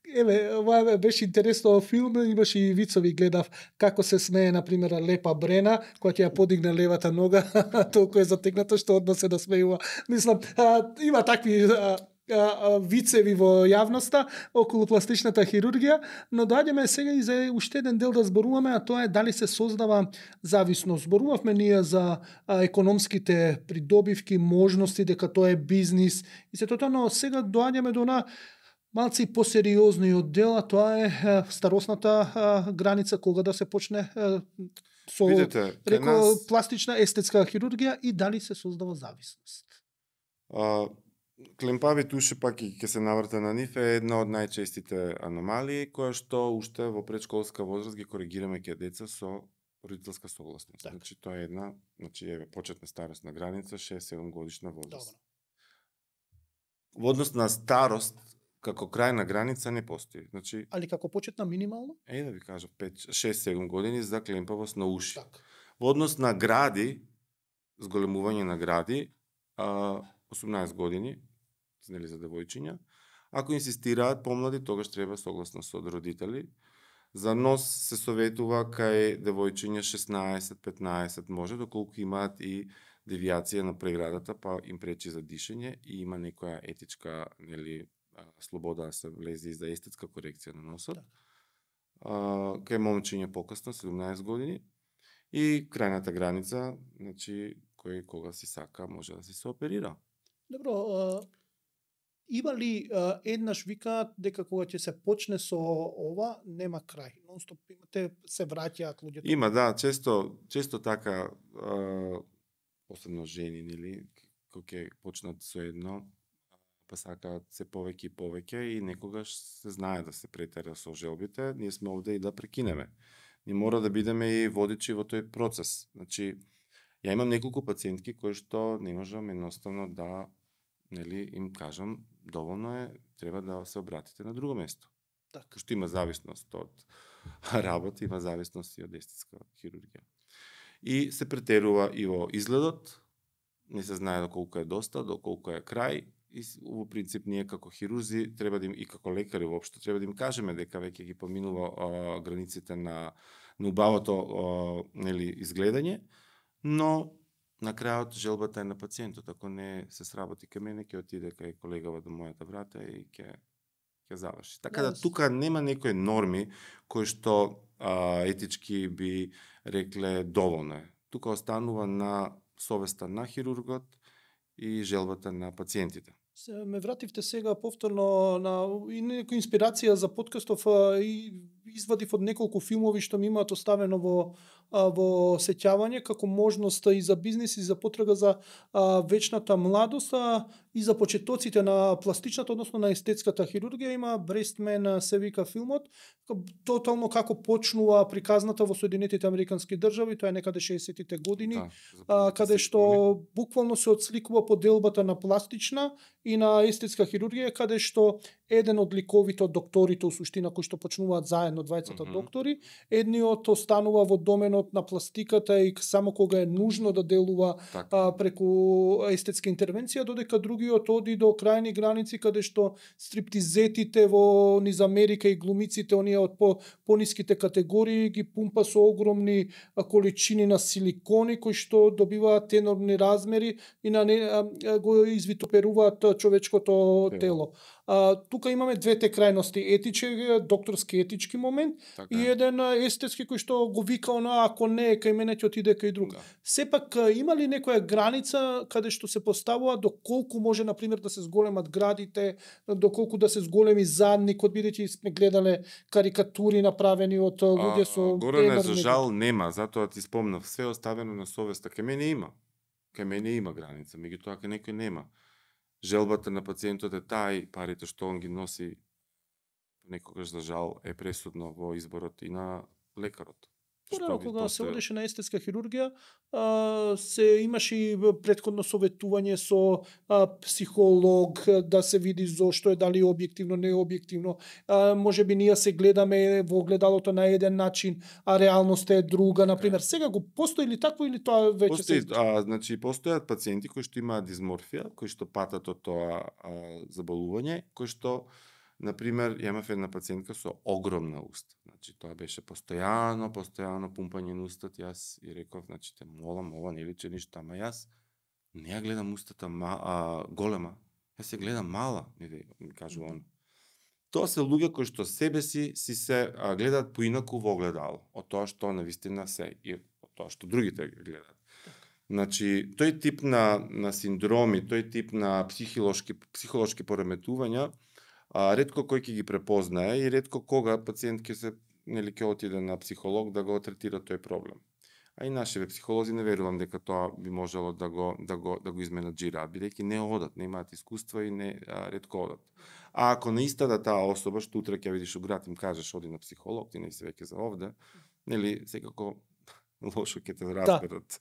Speaker 1: еве, ова беше интересно филм, имаше и вицови, гледав како се смее, например, Лепа Брена, која ќе ја подигне левата нога, толку е затегнато што одма се да смејува. Мислам, а, има такви а, а, вицеви во јавноста околу пластичната хирургија, но доаѓаме сега и за уште еден дел да зборуваме, а тоа е дали се создава зависност. Зборувавме ние за а, економските придобивки, можности, дека тоа е бизнис и се тоа, но сега доаѓаме до на малци посериозниот дел, а тоа е е, старосната а, граница кога да се почне е, со
Speaker 2: Видете, кај
Speaker 1: реко
Speaker 2: нас
Speaker 1: пластична естетска хирургија и дали се создава зависност.
Speaker 2: а, Клемпавите уши пак и ќе се наврта на нив е една од најчестите аномалии која што уште во предшколска возраст ги коригираме ке деца со родителска согласност.
Speaker 1: Така.
Speaker 2: Значи тоа е една, значи еве почетна старосна граница шест-седум годишна возраст.
Speaker 1: Добро.
Speaker 2: Во однос на старост како крајна граница не постои. Значи
Speaker 1: Али како почетна минимално?
Speaker 2: е да ви кажам пет шест-седум години за клемпавост на уши.
Speaker 1: Така.
Speaker 2: Во однос на гради, зголемување на гради, а, осумнаесет години, нели за девојчиња. Ако инсистираат помлади, тогаш треба согласност од родители. За нос се советува кај девојчиња шеснаесет-петнаесет може, доколку имаат и девијација на преградата, па им пречи за дишење и има некоја етичка, нели, слобода да се влезе и за естетска корекција на носот.
Speaker 1: Да.
Speaker 2: А, кај момчиња покасно, седумнаесет години. И крајната граница, значи, кој кога си сака може да си се оперира.
Speaker 1: Добро, а, има ли а, еднаш викаат дека кога ќе се почне со ова, нема крај. Нонстоп имате, се враќаат луѓето.
Speaker 2: Има, да, често, често така, а, посебно жени, нели, кога ќе почнат со едно, па сакаат се повеќе и повеќе и некогаш се знае да се претера со желбите, ние сме овде и да прекинеме. Ние мора да бидеме и водичи во тој процес. Значи, ја имам неколку пациентки кои што не можам едноставно да, нели, им кажам, доволно е, треба да се обратите на друго место.
Speaker 1: Така.
Speaker 2: Што има зависност од работа, има зависност и од естетска хирургија. И се претерува и во изгледот, не се знае доколку е доста, доколку е крај, и во принцип ние како хирурзи треба да им, и како лекари воопшто треба да им кажеме дека веќе ги поминува а, границите на на убавото а, нели изгледање, но на крајот желбата е на пациентот. Ако не се сработи кај мене, ќе отиде кај колегава до мојата врата и ќе ќе заврши. Така да
Speaker 1: Јас-
Speaker 2: тука нема некои норми кои што а, етички би рекле доволно е. Тука останува на совеста на хирургот и желбата на пациентите.
Speaker 1: Се ме вративте сега повторно на и некоја инспирација за подкастов а, и извадив од неколку филмови што ми имаат оставено во а, во сеќавање како можност и за бизнис и за потрага за а, вечната младост а, и за почетоците на пластичната, односно на естетската хирургија. Има Брестмен се вика филмот, тотално како почнува приказната во Соединетите Американски држави, тоа е некаде шеесеттите години.
Speaker 2: Да,
Speaker 1: а, каде што буквално се отсликува поделбата на пластична и на естетска хирургија, каде што еден од ликовите од докторите у суштина кои што почнуваат заедно двајцата
Speaker 2: Мгм.
Speaker 1: доктори, едниот останува во доменот на пластиката и само кога е нужно да делува
Speaker 2: така.
Speaker 1: а, преку естетска интервенција, додека другиот оди до крајни граници каде што стриптизетите во низ Америка и глумиците оние од по пониските категории ги пумпа со огромни а, количини на силикони кои што добиваат енормни размери и на не, а, а, го извитоперуваат а, човечкото
Speaker 2: Тело.
Speaker 1: тело. А, тука имаме двете крајности, етички, докторски етички момент
Speaker 2: Така
Speaker 1: и
Speaker 2: е.
Speaker 1: еден а, естетски кој што го вика она ако не е кај мене ќе отиде кај друг.
Speaker 2: Да.
Speaker 1: Сепак а, има ли некоја граница каде што се поставува доколку може на пример да се зголемат градите, доколку да се зголеми задникот, бидејќи сме гледале карикатури направени од а, луѓе со
Speaker 2: Горе не, за
Speaker 1: енормни-
Speaker 2: жал нема, затоа ти спомнав, се оставено на совеста. Кај мене има. Кај мене има граница, меѓутоа кај некој нема. Желбата на пациентот е таа и парите што он ги носи некогаш за жал е пресудно во изборот и на лекарот.
Speaker 1: Порано
Speaker 2: Што би
Speaker 1: кога се
Speaker 2: после-
Speaker 1: одеше на естетска хирургија, а, се имаше и претходно советување со а, психолог да се види зошто е, дали е објективно, не е објективно. А, може би ние се гледаме во огледалото на еден начин, а реалноста е друга, на пример. Сега го постои ли такво или тоа веќе
Speaker 2: Постои,
Speaker 1: се
Speaker 2: а, значи, постојат пациенти кои што имаат дизморфија, кои што патат од тоа а, заболување, кои што, например, ја имав една пациентка со огромна уста. Значи, тоа беше постојано, постојано пумпање на устат. Јас и реков, значи, те молам, ова не личи ништо, ама јас не ја гледам устата ма, а, голема, јас ја гледам мала, ми, ми кажува он. Тоа се луѓе кои што себе си, си се а, гледаат поинаку во огледало, од тоа што навистина се и од тоа што другите гледаат. Значи, тој тип на, на синдроми, тој тип на психолошки, психолошки пореметувања, а, ретко кој ќе ги препознае и ретко кога пациент ќе се, нели, ќе отиде на психолог да го третира тој проблем. А и нашите психолози не верувам дека тоа би можело да го да го да го изменаџираат, бидејќи не одат, не имаат искуства и не а, ретко одат. А ако наистина таа особа што утре ќе видиш у град им кажеш оди на психолог, ти не си веќе за овде, нели секако лошо ќе те разберат.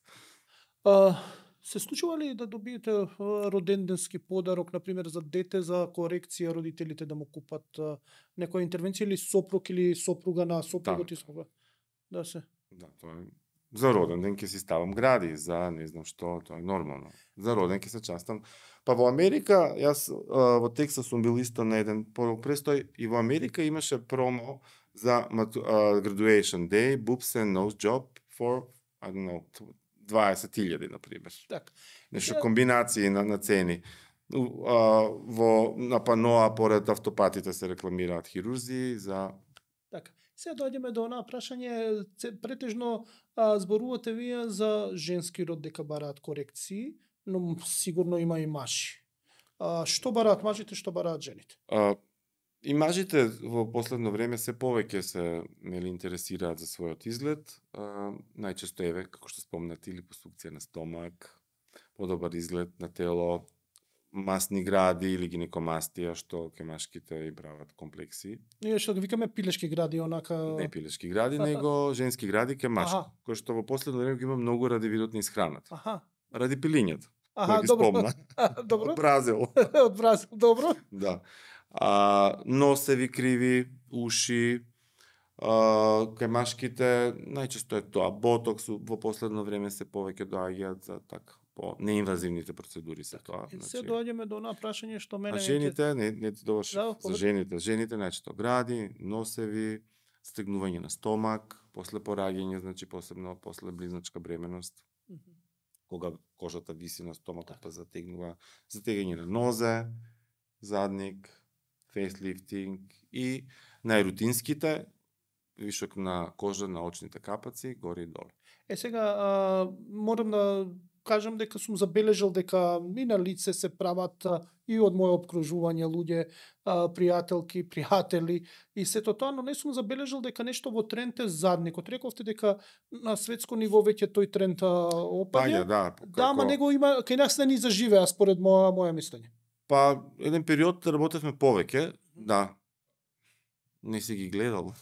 Speaker 1: А, се случува ли да добиете а, роденденски подарок, например за дете, за корекција родителите да му купат а, некоја интервенција или сопруг или сопруга на сопругот и сопруга? Да се.
Speaker 2: Да, тоа е. За роден ден ќе си ставам гради, за не знам што, тоа е нормално. За роден ќе се частам. Па во Америка, јас а, во Тексас сум бил исто на еден престој и во Америка имаше промо за uh, graduation day, boobs and nose job for, I don't know, дваесет илјади, например.
Speaker 1: Так.
Speaker 2: Нешто комбинации на, на цени. Uh, во, на паноа, поред автопатите се рекламираат хирурзи за...
Speaker 1: Така. Сега дојдеме до онаа прашање, претежно а, зборувате вие за женски род дека бараат корекции, но сигурно има и мажи. А, што бараат мажите, што бараат жените?
Speaker 2: А, и мажите во последно време се повеќе се нели интересираат за својот изглед. А, најчесто еве, како што спомнати, липосукција на стомак, подобар изглед на тело, масни гради или гинекомастија, што ке машките и прават комплекси.
Speaker 1: Ние што ги викаме пилешки гради, онака...
Speaker 2: Не пилешки гради, него женски гради ке машки, кој што во последно време ги има многу ради видот на исхраната.
Speaker 1: Аха.
Speaker 2: Ради пилињата.
Speaker 1: Аха, добро. Добро.
Speaker 2: Од Бразил.
Speaker 1: Од Бразил, добро.
Speaker 2: Да. А, носеви криви, уши, а, кај машките најчесто е тоа ботокс, во последно време се повеќе доаѓаат за така по неинвазивните процедури се тоа.
Speaker 1: Значи... Се доаѓаме до онаа прашање што мене...
Speaker 2: А жените, не, не ти доваш,
Speaker 1: да,
Speaker 2: за жените, жените најчесто гради, носеви, стегнување на стомак, после пораѓање, значи посебно после близначка бременост, mm -hmm. кога кожата виси на стомакот да. Па затегнува, затегање на нозе, задник, фейслифтинг и најрутинските, вишок на кожа на очните капаци, горе и доле.
Speaker 1: Е сега, а, морам да кажам дека сум забележал дека и на лице се прават а, и од моје обкружување луѓе, а, пријателки, пријатели и сето тоа, но не сум забележал дека нешто во тренд е задникот. Рековте дека на светско ниво веќе тој тренд опаѓа.
Speaker 2: Да,
Speaker 1: како... да, ама него има кај нас не ни заживеа според моја моја мислење.
Speaker 2: Па еден период работевме повеќе, да. Не си ги гледал.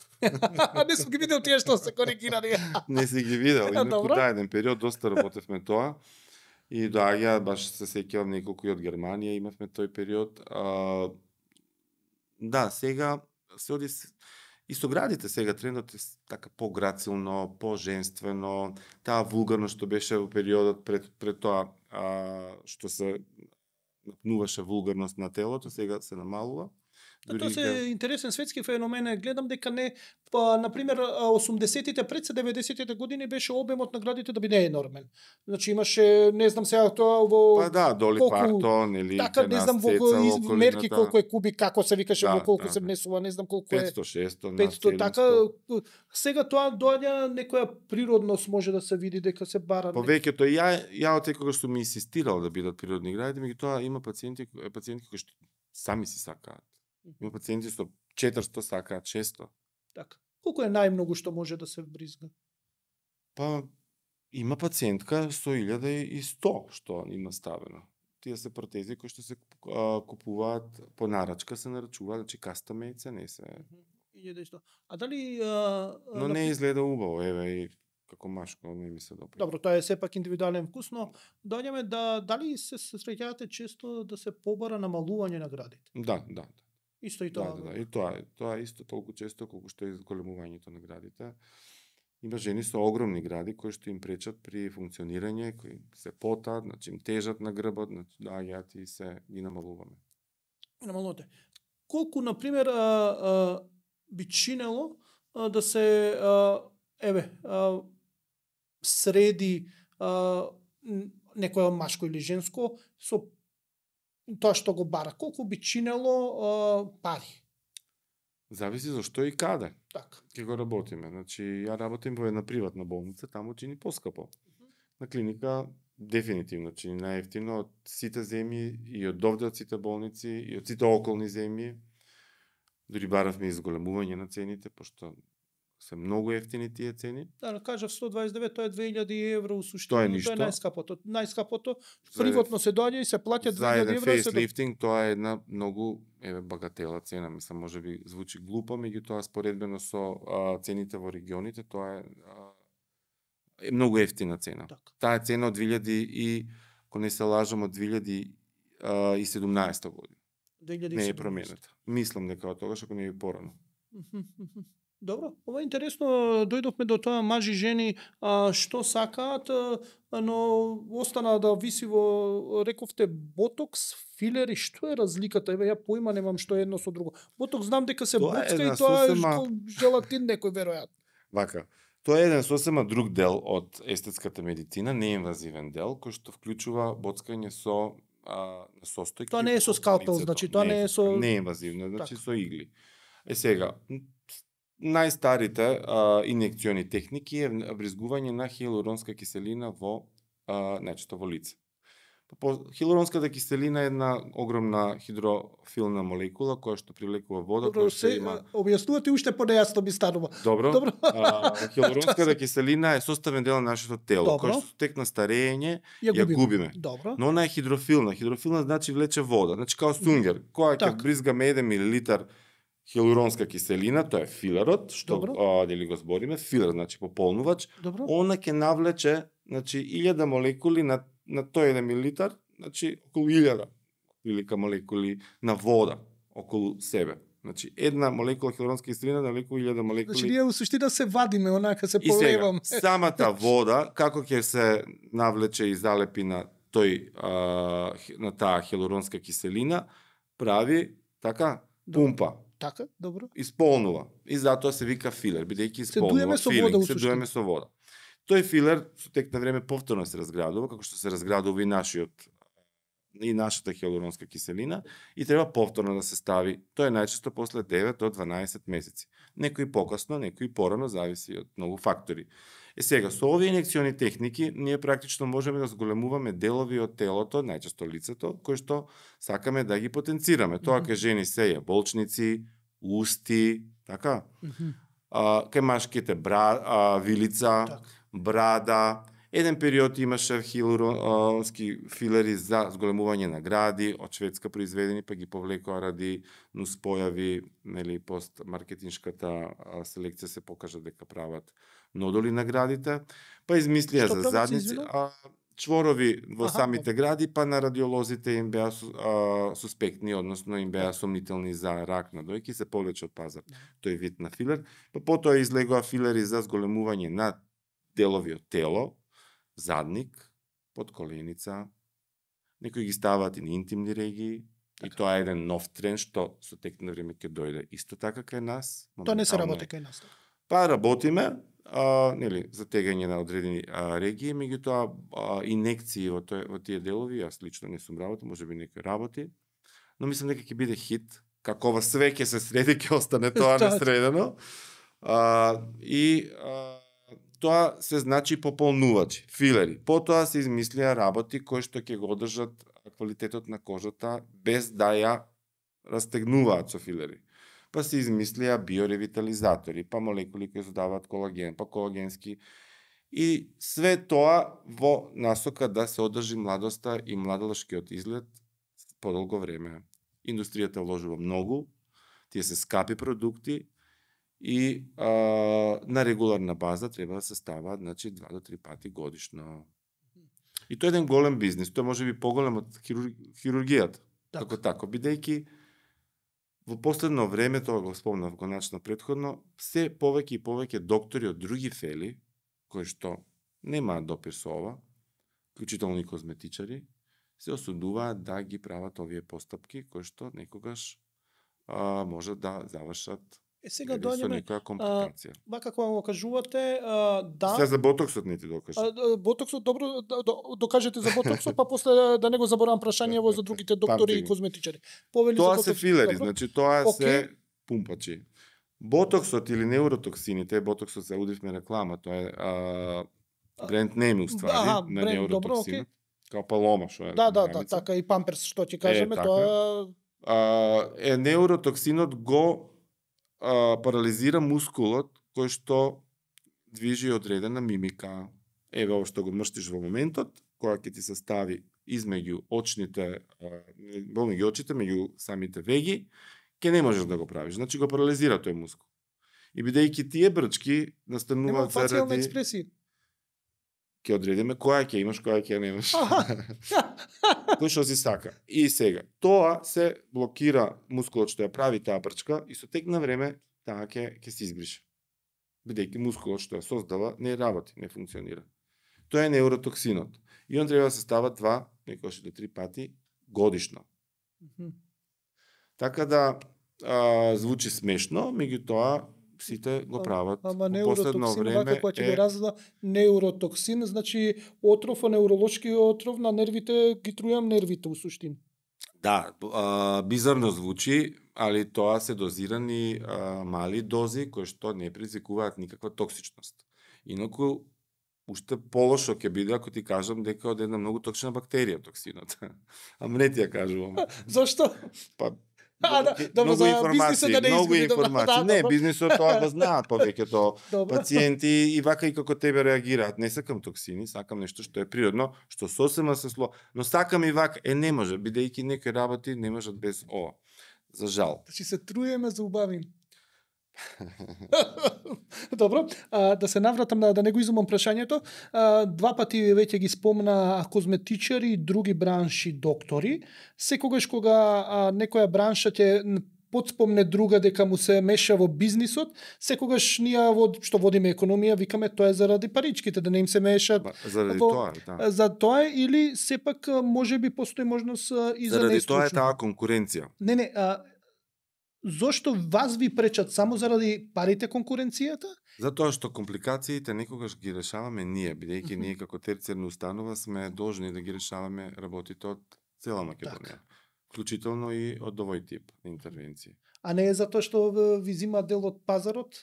Speaker 1: Не сум ги видел тие што се коригирани.
Speaker 2: Не си ги видел. Инаку да, еден период доста работевме тоа. И доаѓа, баш се сеќавам неколку и од Германија, имавме тој период. А, да, сега се оди и со градите сега трендот е така пограцилно, поженствено, таа вулгарност што беше во периодот пред пред тоа а, што се напнуваше вулгарност на телото, сега се намалува.
Speaker 1: Тоа се интересен светски феномен. Гледам дека не, па, например, осумдесетите пред деветдесетите години беше обемот на градите да биде енормен. Значи имаше, не знам сега тоа во...
Speaker 2: Па да, Доли колку... Партон или
Speaker 1: така, не знам во из... мерки колку е кубик, како се викаше,
Speaker 2: да,
Speaker 1: во колку
Speaker 2: да,
Speaker 1: се внесува, не знам колку е...
Speaker 2: петсто шестоста,
Speaker 1: петсто, така, сега тоа доаѓа некоја природност може да се види дека се бара.
Speaker 2: Повеќето ја ја од кога што ми инсистирал да бидат природни гради, меѓутоа има пациенти, пациенти кои што сами си сакаат. Има пациенти со четиристо сакаат шесто.
Speaker 1: Така. Колку е најмногу што може да се бризга?
Speaker 2: Па има пациентка со илјада и сто што има ставено. Тие се протези кои што се а, купуваат по нарачка, се нарачуваат, значи кастомејце, не се.
Speaker 1: илјада и сто. А дали а,
Speaker 2: но не изгледа убаво, еве и како машко не ми се добро.
Speaker 1: Добро, тоа е сепак индивидуален вкус, но доаѓаме да дали се среќавате често да се побара намалување на градите?
Speaker 2: Да, да.
Speaker 1: Исто и тоа.
Speaker 2: Да, да, да, и тоа е, тоа е исто толку често колку што е зголемувањето на градите. Има жени со огромни гради кои што им пречат при функционирање, кои се потат, значи им тежат на грбот, значи доаѓаат и се ги намалуваме.
Speaker 1: Намалувате. Колку на пример а, а, би чинело а, да се а, еве а, среди а, некоја машко или женско со тоа што го бара, колку би чинело а, пари?
Speaker 2: Зависи за што и каде.
Speaker 1: Така.
Speaker 2: Ке го работиме. Значи, ја работим во една приватна болница, таму чини поскапо. Uh -huh. На клиника дефинитивно чини најевтино од сите земји и од овде од сите болници и од сите околни земји. Дори баравме изголемување на цените, пошто се многу ефтини тие цени.
Speaker 1: Да, кажав сто дваесет и девет, тоа е две илјади евро у суштина,
Speaker 2: Тоа е
Speaker 1: тоа
Speaker 2: ништо.
Speaker 1: е најскапото. Најскапото
Speaker 2: За-
Speaker 1: приватно се доаѓа и се плаќа
Speaker 2: За
Speaker 1: две илјади
Speaker 2: еден
Speaker 1: евро. се до-
Speaker 2: фейслифтинг тоа е една многу еве багатела цена, мислам можеби звучи глупо, меѓутоа споредбено со а, цените во регионите, тоа е а, е многу ефтина цена.
Speaker 1: Така.
Speaker 2: Таа е цена од две илјади и ако не се лажам од две илјади и седумнаесета година.
Speaker 1: две илјади и
Speaker 2: Не е
Speaker 1: седумнаесета.
Speaker 2: променета. Мислам дека од тогаш ако не е порано.
Speaker 1: Мгм, мгм. Добро, ова е интересно, дојдовме до тоа мажи жени а, што сакаат, а, но остана да виси во, рековте, ботокс, филери, што е разликата? Еве ја поима немам што е едно со друго. Ботокс знам дека се
Speaker 2: Тоа е
Speaker 1: боцка
Speaker 2: една
Speaker 1: и тоа е
Speaker 2: сосема-
Speaker 1: што желатин некој веројатно.
Speaker 2: Вака, тоа е еден сосема друг дел од естетската медицина, неинвазивен дел, кој што вклучува боцкање со а, состојки.
Speaker 1: Тоа не е со
Speaker 2: од
Speaker 1: скалпел,
Speaker 2: лицето.
Speaker 1: значи, тоа не е со-
Speaker 2: неинвазивно, значи
Speaker 1: Така.
Speaker 2: со игли. Е сега, м, најстарите а, инекциони техники е вризгување на хиалуронска киселина во а, најчесто во лице. Па По, хиалуронската киселина е една огромна хидрофилна молекула која што привлекува вода,
Speaker 1: Добро,
Speaker 2: која што
Speaker 1: се
Speaker 2: има
Speaker 1: објаснувате уште понејасно ми станува.
Speaker 2: Добро.
Speaker 1: Добро.
Speaker 2: А, хиалуронската киселина е составен дел на нашето тело,
Speaker 1: Добро.
Speaker 2: кој што тек на старење
Speaker 1: Ја
Speaker 2: ја
Speaker 1: губиме.
Speaker 2: губиме.
Speaker 1: Добро.
Speaker 2: Но она е хидрофилна. Хидрофилна значи влече вода. Значи као сунгер. Која ќе
Speaker 1: Така.
Speaker 2: бризгаме еден милилитар хиалуронска киселина, тоа е филерот, што
Speaker 1: Добро.
Speaker 2: а, дели го збориме, филер значи пополнувач,
Speaker 1: Добро.
Speaker 2: она ќе навлече значи илјада молекули на на тој еден милилитар, значи околу илјада прилика молекули на вода околу себе. Значи една молекула хиалуронска киселина навлекува илјада молекули.
Speaker 1: Значи ние во суштина се вадиме, онака се
Speaker 2: И сега,
Speaker 1: полеваме.
Speaker 2: самата вода, како ќе се навлече и залепи на тој а, хи- на таа хиалуронска киселина, прави така пумпа,
Speaker 1: Така, добро.
Speaker 2: исполнува. И затоа се вика филер, бидејќи исполнува.
Speaker 1: дуеме со
Speaker 2: филинг,
Speaker 1: вода, у
Speaker 2: се
Speaker 1: суштина.
Speaker 2: дуеме со вода. Тој филер со тек на време повторно се разградува, како што се разградува и нашиот и нашата хиалуронска киселина и треба повторно да се стави. Тоа е најчесто после девет до дванаесет месеци. Некои покасно, некои порано, зависи од многу фактори. Е сега, со овие инекциони техники, ние практично можеме да зголемуваме делови од телото, најчесто лицето, кои што сакаме да ги потенцираме. Тоа
Speaker 1: Мгм.
Speaker 2: кај жени се е болчници, усти, така?
Speaker 1: Мгм.
Speaker 2: А, кај машките бра, а, вилица,
Speaker 1: Така.
Speaker 2: брада. Еден период имаше хиалуронски филери за зголемување на гради, од Шведска произведени, па ги повлекоа ради нуспојави, нели, пост маркетиншката а, селекција се покажа дека прават нодоли на градите, па измислија
Speaker 1: Што
Speaker 2: за
Speaker 1: прават,
Speaker 2: задници,
Speaker 1: извинувам?
Speaker 2: а, чворови во
Speaker 1: Аха,
Speaker 2: самите гради, па на радиолозите им беа су- а, суспектни, односно им беа сомнителни за рак на дојки, се повлече од пазар тој вид на филер, па потоа излегоа филери за зголемување на делови од тело, задник, под коленица, некои ги ставаат и на интимни регии, и тоа е еден нов тренд што со тек на време ќе дојде исто така кај нас.
Speaker 1: Тоа не се
Speaker 2: моментално
Speaker 1: работи
Speaker 2: е.
Speaker 1: кај нас.
Speaker 2: Па работиме, а, нели, за тегање на одредени а, регии, меѓутоа а, инекции во, тој, во тие делови, јас лично не сум работил, можеби некој работи, но мислам дека ќе биде хит, како ова све ќе се среди, ќе остане тоа
Speaker 1: Тоа.
Speaker 2: несредено. А, и а, тоа се значи пополнувачи, филери. Потоа се измислија работи кои што ќе го одржат квалитетот на кожата без да ја растегнуваат со филери. Па се измислија биоревитализатори, па молекули кои задаваат колаген, па колагенски. И све тоа во насока да се одржи младоста и младалашкиот изглед подолго време. Индустријата вложува многу, тие се скапи продукти, и а, на регуларна база треба да се ставаат, значи, два до три пати годишно. И тоа е еден голем бизнис, тоа може би поголем од хирур... хирургијата.
Speaker 1: Така.
Speaker 2: Како тако, бидејќи во последно време, тоа го спомнав го начина предходно, се повеќе и повеќе доктори од други фели, кои што немаат допир со ова, вклучително и козметичари, се осудуваат да ги прават овие постапки, кои што некогаш а, може да завршат
Speaker 1: Е сега
Speaker 2: или со
Speaker 1: доаѓаме,
Speaker 2: некоја компликација.
Speaker 1: вака кога го кажувате, а, да,
Speaker 2: Се за ботоксот не ти докажа.
Speaker 1: а, да, ботоксот, добро, да, до- докажете за ботоксот, па после да не го заборавам прашањево за другите доктори
Speaker 2: Памти
Speaker 1: и
Speaker 2: го.
Speaker 1: козметичари. Повели
Speaker 2: Тоа
Speaker 1: за
Speaker 2: се
Speaker 1: ботоксот,
Speaker 2: филери,
Speaker 1: добро?
Speaker 2: значи тоа
Speaker 1: Океј.
Speaker 2: се пумпачи. Ботоксот или неуротоксините, ботоксот се удивме реклама, тоа е а, бренд нейм уствари
Speaker 1: Аха,
Speaker 2: на
Speaker 1: бренд, добро,
Speaker 2: неуротоксинот. Као палома, што е.
Speaker 1: Да, да, да,
Speaker 2: граница.
Speaker 1: така и памперс што ќе кажеме,
Speaker 2: така.
Speaker 1: тоа
Speaker 2: А, е неуротоксинот го а, парализира мускулот кој што движи одредена мимика. Еве ово што го мрштиш во моментот, која ќе ти се стави измеѓу очните, меѓу очите, меѓу самите веги, ќе не можеш да го правиш. Значи го парализира тој мускул. И бидејќи тие брчки настануваат
Speaker 1: заради... Нема фацијална експресија.
Speaker 2: Ќе одредиме која ќе имаш, која ќе немаш. Кој што си сака. И сега, тоа се блокира мускулот што ја прави таа брчка и со тек на време таа ќе ќе се избрише. Бидејќи мускулот што ја создава не работи, не функционира. Тоа е неуротоксинот. И он треба да се става два, некојаш до три пати годишно.
Speaker 1: Mm-hmm.
Speaker 2: Така да а, звучи смешно, меѓутоа сите го прават.
Speaker 1: Ама неуротоксин, вака која ќе е... го разда неуротоксин, значи отров, неуролошки отров на нервите, ги трујам нервите у суштина.
Speaker 2: Да, а, бизарно звучи, али тоа се дозирани а, мали дози кои што не предизвикуваат никаква токсичност. Инаку уште полошо ќе биде ако ти кажам дека од една многу токсична бактерија токсинот. Ама не ти ја кажувам.
Speaker 1: Зошто?
Speaker 2: Па
Speaker 1: А, да, добро,
Speaker 2: многу
Speaker 1: за
Speaker 2: информации,
Speaker 1: да не
Speaker 2: многу
Speaker 1: изгуби,
Speaker 2: информации.
Speaker 1: Да,
Speaker 2: не,
Speaker 1: добро.
Speaker 2: бизнисот тоа го знаат повеќето
Speaker 1: Добро.
Speaker 2: пациенти и вака и како тебе реагираат. Не сакам токсини, сакам нешто што е природно, што сосема се сло, но сакам и вака. Е не може, бидејќи некои работи не можат без ова. За жал.
Speaker 1: Значи се труеме за убавим. Добро, а, да се навратам да, да не го изумам прашањето. А, два пати веќе ги спомна козметичари и други бранши доктори. Секогаш кога а, некоја бранша ќе подспомне друга дека му се меша во бизнисот, секогаш ние во што водиме економија викаме тоа е заради паричките, да не им се мешат.
Speaker 2: Ба, заради
Speaker 1: во,
Speaker 2: тоа, да.
Speaker 1: За тоа или сепак можеби постои можност и за
Speaker 2: заради
Speaker 1: нестручно.
Speaker 2: тоа е таа конкуренција.
Speaker 1: Не, не, а, зошто вас ви пречат само заради парите конкуренцијата?
Speaker 2: Затоа што компликациите некогаш ги решаваме ние, бидејќи mm-hmm. ние како терцијарна установа сме должни да ги решаваме работите од цела Македонија. Так. Вклучително и од овој тип интервенции.
Speaker 1: А не е затоа што ви зима дел од пазарот?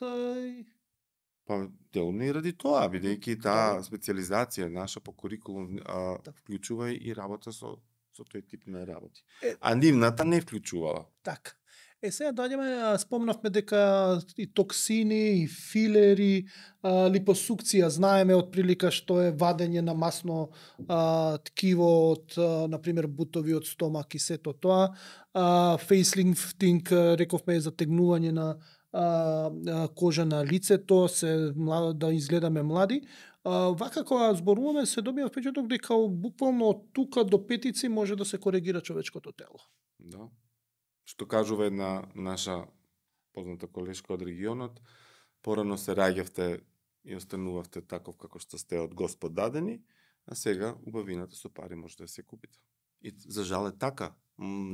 Speaker 2: Па делно и ради тоа, бидејќи таа специализација наша по курикулум а,
Speaker 1: так.
Speaker 2: вклучува и работа со со тој тип на работи.
Speaker 1: Е,
Speaker 2: а нивната не вклучувала.
Speaker 1: Така. Е, сега доаѓаме, спомнавме дека и токсини, и филери, а, липосукција, знаеме од прилика што е вадење на масно а, ткиво од, а, например, бутови од стомак и сето тоа. А, фейслифтинг, рековме, е затегнување на а, а, кожа на лицето, се да изгледаме млади. А, вака кога зборуваме, се добива впечаток дека буквално од тука до петици може да се коригира човечкото тело.
Speaker 2: Да. Што кажува една наша позната колешка од регионот, порано се раѓавте и останувавте таков како што сте од Господ дадени, а сега убавината со пари може да се купите. И за жал е така.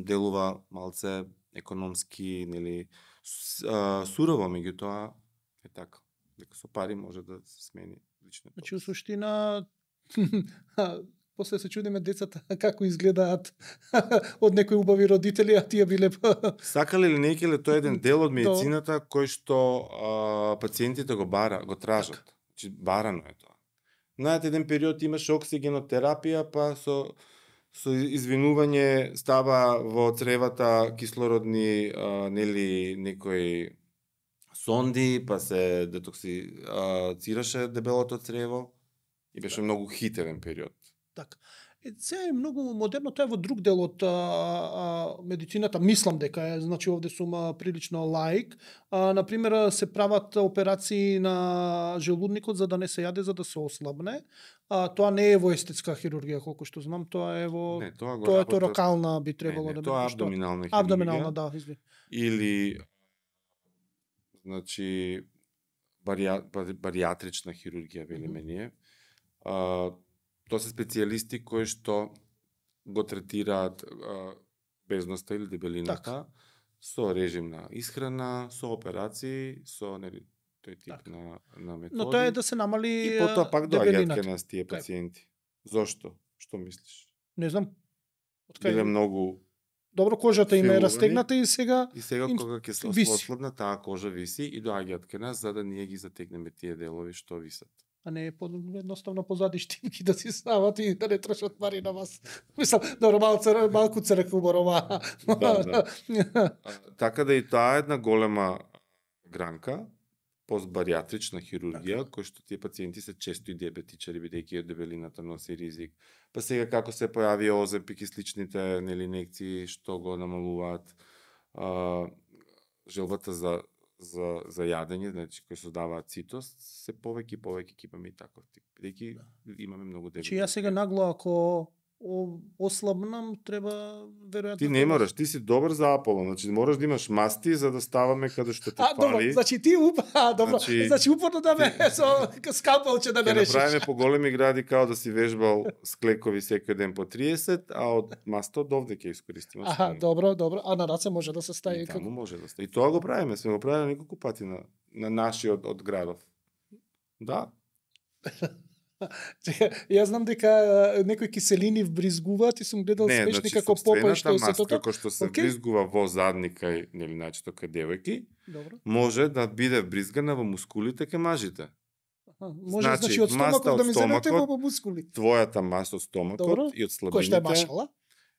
Speaker 2: Делува малце економски, нели, сурово, меѓутоа е така. Дека со пари може да се смени лично.
Speaker 1: Значи, у суштина, после се чудиме децата како изгледаат од некои убави родители, а тие биле...
Speaker 2: Сакале или не келе, тоа е еден дел од медицината кој што а, пациентите го бара, го тражат. Значи, барано е тоа. Знаете, еден период имаше оксигенотерапија, па со со извинување става во цревата кислородни а, нели некои сонди, па се детоксицираше дебелото црево и беше многу хит еден период.
Speaker 1: Така. Е, сега е многу модерно, тоа е во друг дел од а, а, медицината, мислам дека е, значи овде сум а, прилично лаик. А, например, се прават операции на желудникот за да не се јаде, за да се ослабне. А, тоа не е во естетска хирургија, колку што знам, тоа е во
Speaker 2: не, тоа, го
Speaker 1: тоа е
Speaker 2: работат...
Speaker 1: торакална би требало
Speaker 2: не, не,
Speaker 1: да биде.
Speaker 2: Тоа е абдоминална хирургија.
Speaker 1: Абдоминална, да, извини.
Speaker 2: Или значи барија, баријатрична хирургија, велиме ние. А, Тоа се специјалисти кои што го третираат а, безноста или дебелината так. Со режим на исхрана, со операции, со нели тој тип так. на на методи.
Speaker 1: Но тоа е да се намали
Speaker 2: и потоа пак доаѓаат кај нас тие пациенти. Зошто? Што мислиш?
Speaker 1: Не знам.
Speaker 2: Откај биле многу
Speaker 1: добро, кожата им е растегната и сега
Speaker 2: и сега
Speaker 1: им...
Speaker 2: кога ќе се ослабна таа кожа виси и доаѓаат кај нас за да ние ги затегнеме тие делови што висат.
Speaker 1: А не е едноставно позади штимки да си стават и да не трошат пари на вас. Мислам, добро, малце, малку црк уборова.
Speaker 2: Да, да. Така да и таа е една голема гранка, постбариатрична хирургија, кој што тие пациенти се често и диабетичари, бидејќи дебелината носи ризик. Па сега како се појави Оземпик и сличните, нели, инекции што го намалуваат а, желбата за за за јадење, значи кои создаваат цитост, се повеќе и повеќе ќе имаме и таков тип. Бидејќи имаме многу дебели.
Speaker 1: Чи ја сега нагло ако о- ослабнам, треба веројатно...
Speaker 2: Ти не мораш, ти си добар за Аполо, значи мораш да имаш масти за да ставаме каде што те
Speaker 1: А, добро,
Speaker 2: фали.
Speaker 1: значи ти уп... А, добро,
Speaker 2: Значи-
Speaker 1: значи, упорно да ме со скалпелче да ме
Speaker 2: Ќе
Speaker 1: решиш.
Speaker 2: направиме по големи гради као да си вежбал с клекови секој ден по триесет, а од маста од овде ќе искористиме.
Speaker 1: Аха, добро, добро. А на раце може да се стави
Speaker 2: И таму
Speaker 1: како...
Speaker 2: може да стаи. И тоа го правиме, сме го правиле неколку пати на на нашиот од градов. Да.
Speaker 1: Чека, јас знам дека а, некои киселини вбризгуваат и сум гледал
Speaker 2: Не,
Speaker 1: смешни
Speaker 2: значи
Speaker 1: како попа и што е
Speaker 2: маска
Speaker 1: сето тоа.
Speaker 2: кој што се
Speaker 1: Океј.
Speaker 2: вбризгува во задника и нели најчесто кај девојки,
Speaker 1: Добро.
Speaker 2: може да биде вбризгана во мускулите кај мажите.
Speaker 1: Аха, може
Speaker 2: Значи,
Speaker 1: значи, од
Speaker 2: маста
Speaker 1: стомакот
Speaker 2: од
Speaker 1: да ми земете
Speaker 2: стомакот,
Speaker 1: во мускули.
Speaker 2: Твојата маса од стомакот
Speaker 1: Добро.
Speaker 2: и од
Speaker 1: Кој што е
Speaker 2: слабините
Speaker 1: машала?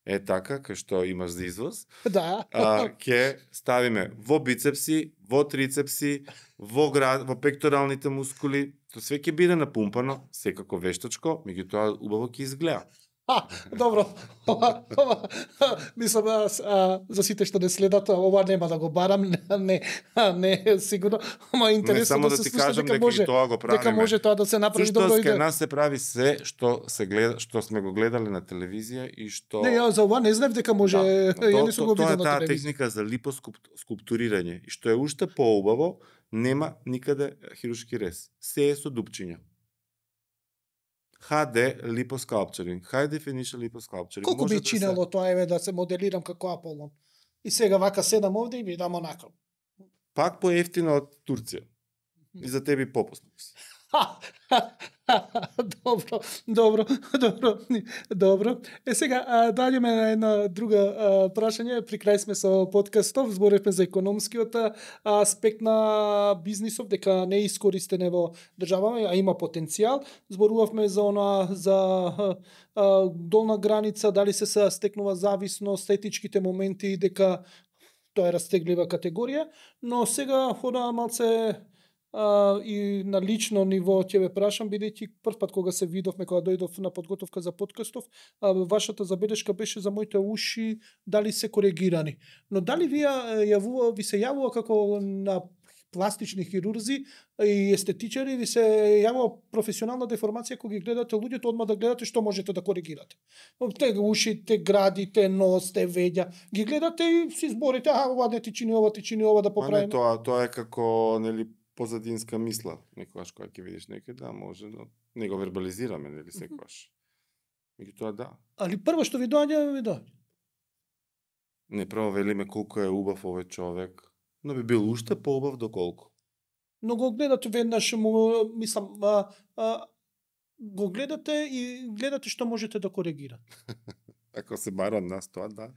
Speaker 2: е така кај што имаш за извоз.
Speaker 1: Да.
Speaker 2: А, ќе ставиме во бицепси, во трицепси, во град, во пекторалните мускули, тоа све ќе биде напумпано, секако вештачко, меѓутоа убаво ќе изгледа.
Speaker 1: А, добро. Ова, ова, мислам, а, а, за сите што не следат, ова нема да го барам, не, не, не сигурно, ама
Speaker 2: Не
Speaker 1: интересно
Speaker 2: само
Speaker 1: да
Speaker 2: да
Speaker 1: се
Speaker 2: ти
Speaker 1: слуша
Speaker 2: кажам
Speaker 1: дека
Speaker 2: дека
Speaker 1: може,
Speaker 2: и тоа го правиме.
Speaker 1: дека може тоа да се направи добро
Speaker 2: Сушто
Speaker 1: и
Speaker 2: кај
Speaker 1: да...
Speaker 2: нас се прави се што се гледа, што сме го гледале на телевизија и што
Speaker 1: Не, ја за ова не знаев дека може,
Speaker 2: Да,
Speaker 1: ја
Speaker 2: то-
Speaker 1: не сум
Speaker 2: то-
Speaker 1: го
Speaker 2: тоа
Speaker 1: видел
Speaker 2: е
Speaker 1: на
Speaker 2: таа
Speaker 1: телевизија.
Speaker 2: техника за липоскулптурирање и што е уште поубаво, нема никаде хируршки рез. Се е со дупчиња. Х Д липоскалпчеринг. High definition liposculpturing.
Speaker 1: Колку
Speaker 2: Може
Speaker 1: би
Speaker 2: да
Speaker 1: чинело тоа еве да се моделирам како Аполон? И сега вака седам овде и видам онака.
Speaker 2: се... Пак поевтино од Турција. И за тебе попусно.
Speaker 1: Добро, добро, добро, добро. Е сега а, доаѓаме на една друга а, прашање. При крај сме со подкастов, зборевме за економскиот а, аспект на бизнисов, дека не е искористен во државама, а има потенцијал. Зборувавме за она за а, а, долна граница, дали се се стекнува зависност, етичките моменти, дека тоа е растеглива категорија, но сега хора малце а, и на лично ниво ќе ве прашам, бидејќи прв пат кога се видовме, кога дојдов на подготовка за подкастов, а, вашата забелешка беше за моите уши, дали се коригирани. Но дали вие а, јавува, ви се јавува како на пластични хирурзи и естетичари, ви се јавува професионална деформација кога ги гледате луѓето, одма да гледате што можете да коригирате. Те уши, те гради, те нос, те веѓа, ги гледате и си зборите, а ова не ти чини ова, ти чини ова да
Speaker 2: Ма не,
Speaker 1: поправиме.
Speaker 2: тоа, тоа е како нели позадинска мисла. Некогаш кога ќе видиш некој, да, може, но не го вербализираме, нели секогаш. Меѓутоа да.
Speaker 1: Али прво што ви доаѓа, ви доаѓа.
Speaker 2: Не прво велиме колку е убав овој човек, но би бил уште поубав доколку.
Speaker 1: Но го гледате веднаш, му, мислам, а, а, го гледате и гледате што можете да коригирате.
Speaker 2: Ако се бара од нас тоа, да.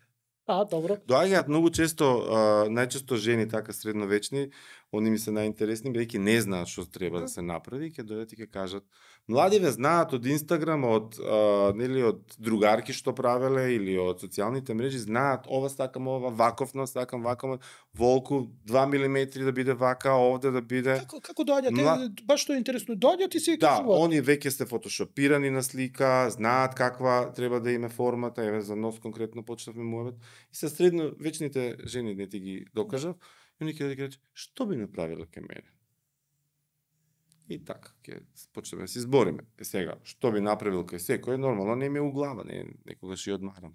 Speaker 1: А, добро.
Speaker 2: Доаѓаат многу често, а, најчесто жени така средновечни, они ми се најинтересни, бидејќи не знаат што треба да се направи, ќе дојдат и ќе кажат: "Младиве знаат од Инстаграм, од а, нели од другарки што правеле или од социјалните мрежи, знаат ова сакам, ова ваковно, сакам ваком, волку два милиметри да биде вака, овде да биде."
Speaker 1: Како, како доаѓате?
Speaker 2: Мла-
Speaker 1: Баш што е интересно, доаѓат и си
Speaker 2: Да,
Speaker 1: кажуваат.
Speaker 2: они веќе се фотошопирани на слика, знаат каква треба да име формата, еве за нос конкретно почнавме муабет. И се средно вечните жени не ти ги докажав, и они ќе да кажат: "Што би направила кај мене?" И така, ќе почнеме да се избориме. Е сега, што би направил кај секој, нормално не ми е у глава, не некогаш и одмарам.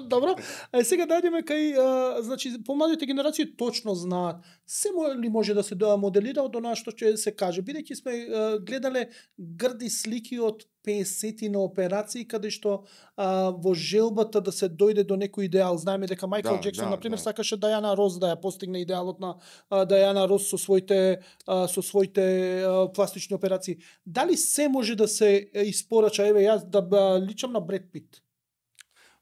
Speaker 1: Добро. А сега доаѓаме кај, а, значи, помладите генерации точно знаат се мо- ли може да се да моделира од она што ќе се каже, бидејќи сме а, гледале грди слики од песети на операции каде што а, во желбата да се дојде до некој идеал. Знаеме дека Мајкл
Speaker 2: Да,
Speaker 1: Джексон
Speaker 2: да,
Speaker 1: на пример
Speaker 2: да.
Speaker 1: сакаше Дајана Рос да ја постигне идеалот на а, Дајана Рос со своите а, со своите а, пластични операции. Дали се може да се е, испорача, еве јас да ба, личам на Бред Пит?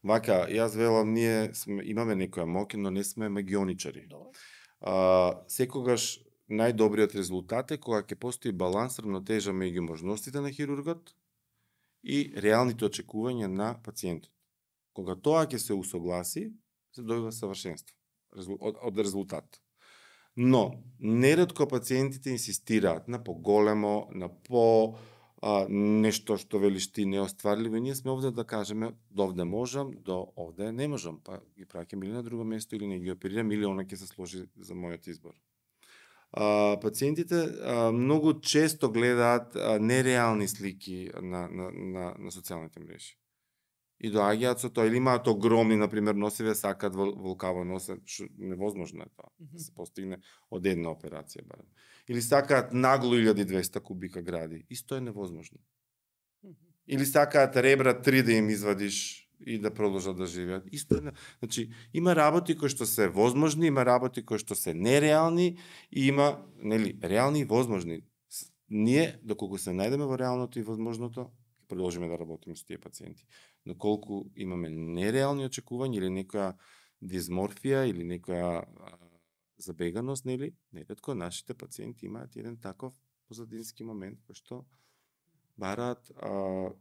Speaker 2: Вака, јас велам, ние сме, имаме некоја моќ, но не сме магионичари.
Speaker 1: Добро.
Speaker 2: А, секогаш најдобриот резултат е кога ќе постои баланс, равнотежа меѓу можностите на хирургот и реалните очекувања на пациентот. Кога тоа ќе се усогласи, се добива савршенство резул- од, од резултат. Но, неретко пациентите инсистираат на поголемо, на по а, нешто што велиш ти неостварливо, и ние сме овде да кажеме, до овде можам, до овде не можам, па ги праќам или на друго место, или не ги оперирам, или она ќе се сложи за мојот избор. А, пациентите а, многу често гледаат а, нереални слики на, на, на, на социјалните мрежи. И доаѓаат со тоа, или имаат огромни, например, носиве, сакаат волкаво носе, што невозможно е тоа, да се постигне од една операција барем. Или сакаат нагло илјада и двесте кубика гради, исто е невозможно. Или сакаат ребра три да им извадиш и да продолжат да живеат, исто е. Значи, има работи кои што се возможни, има работи кои што се нереални и има, нели, реални и возможни. Ние, доколку се најдеме во реалното и возможното, продолжиме да работиме со тие пациенти. Но колку имаме нереални очекувања или некоја дизморфија или некоја а, забеганост, нели, неретко нашите пациенти имаат еден таков позадински момент кој што бараат а,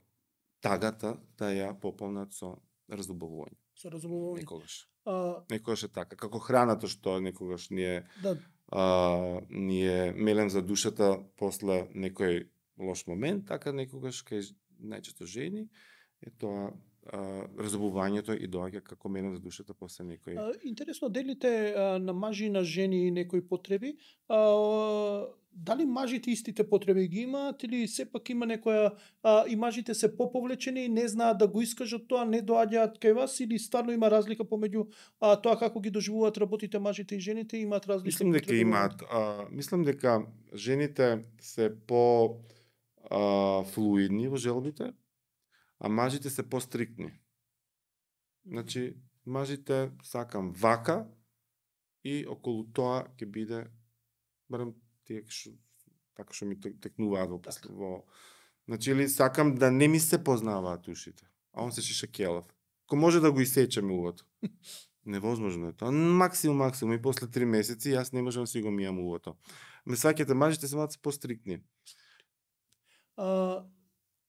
Speaker 2: тагата да ја пополнат со разубавување.
Speaker 1: Со разубавување.
Speaker 2: Некогаш.
Speaker 1: А...
Speaker 2: Некогаш е така. Како храната што некогаш ние,
Speaker 1: да.
Speaker 2: а, ние мелем за душата после некој лош момент, така некогаш кај најчесто жени е тоа а, разубувањето и доаѓа како мелем за душата после некој.
Speaker 1: А, интересно, делите а, на мажи и на жени некои потреби. А, дали мажите истите потреби ги имаат или сепак има некоја а, и мажите се поповлечени и не знаат да го искажат тоа, не доаѓаат кај вас, или стварно има разлика помеѓу а, тоа како ги доживуваат работите мажите и жените, имаат различни
Speaker 2: Мислам дека имаат, а, мислам дека жените се по а, флуидни во желбите, а мажите се по-стриктни. Значи, мажите сакам вака и околу тоа ќе биде, барем тие шо, така што ми текнуваат во, така. во... Значи, или сакам да не ми се познаваат ушите, а он се шиша келав. Ко може да го исечеме увото. Невозможно е тоа. Максимум, максимум, и после три месеци јас не можам да си го мијам увото. Ме сваќате, мажите се малку по-стриктни.
Speaker 1: А,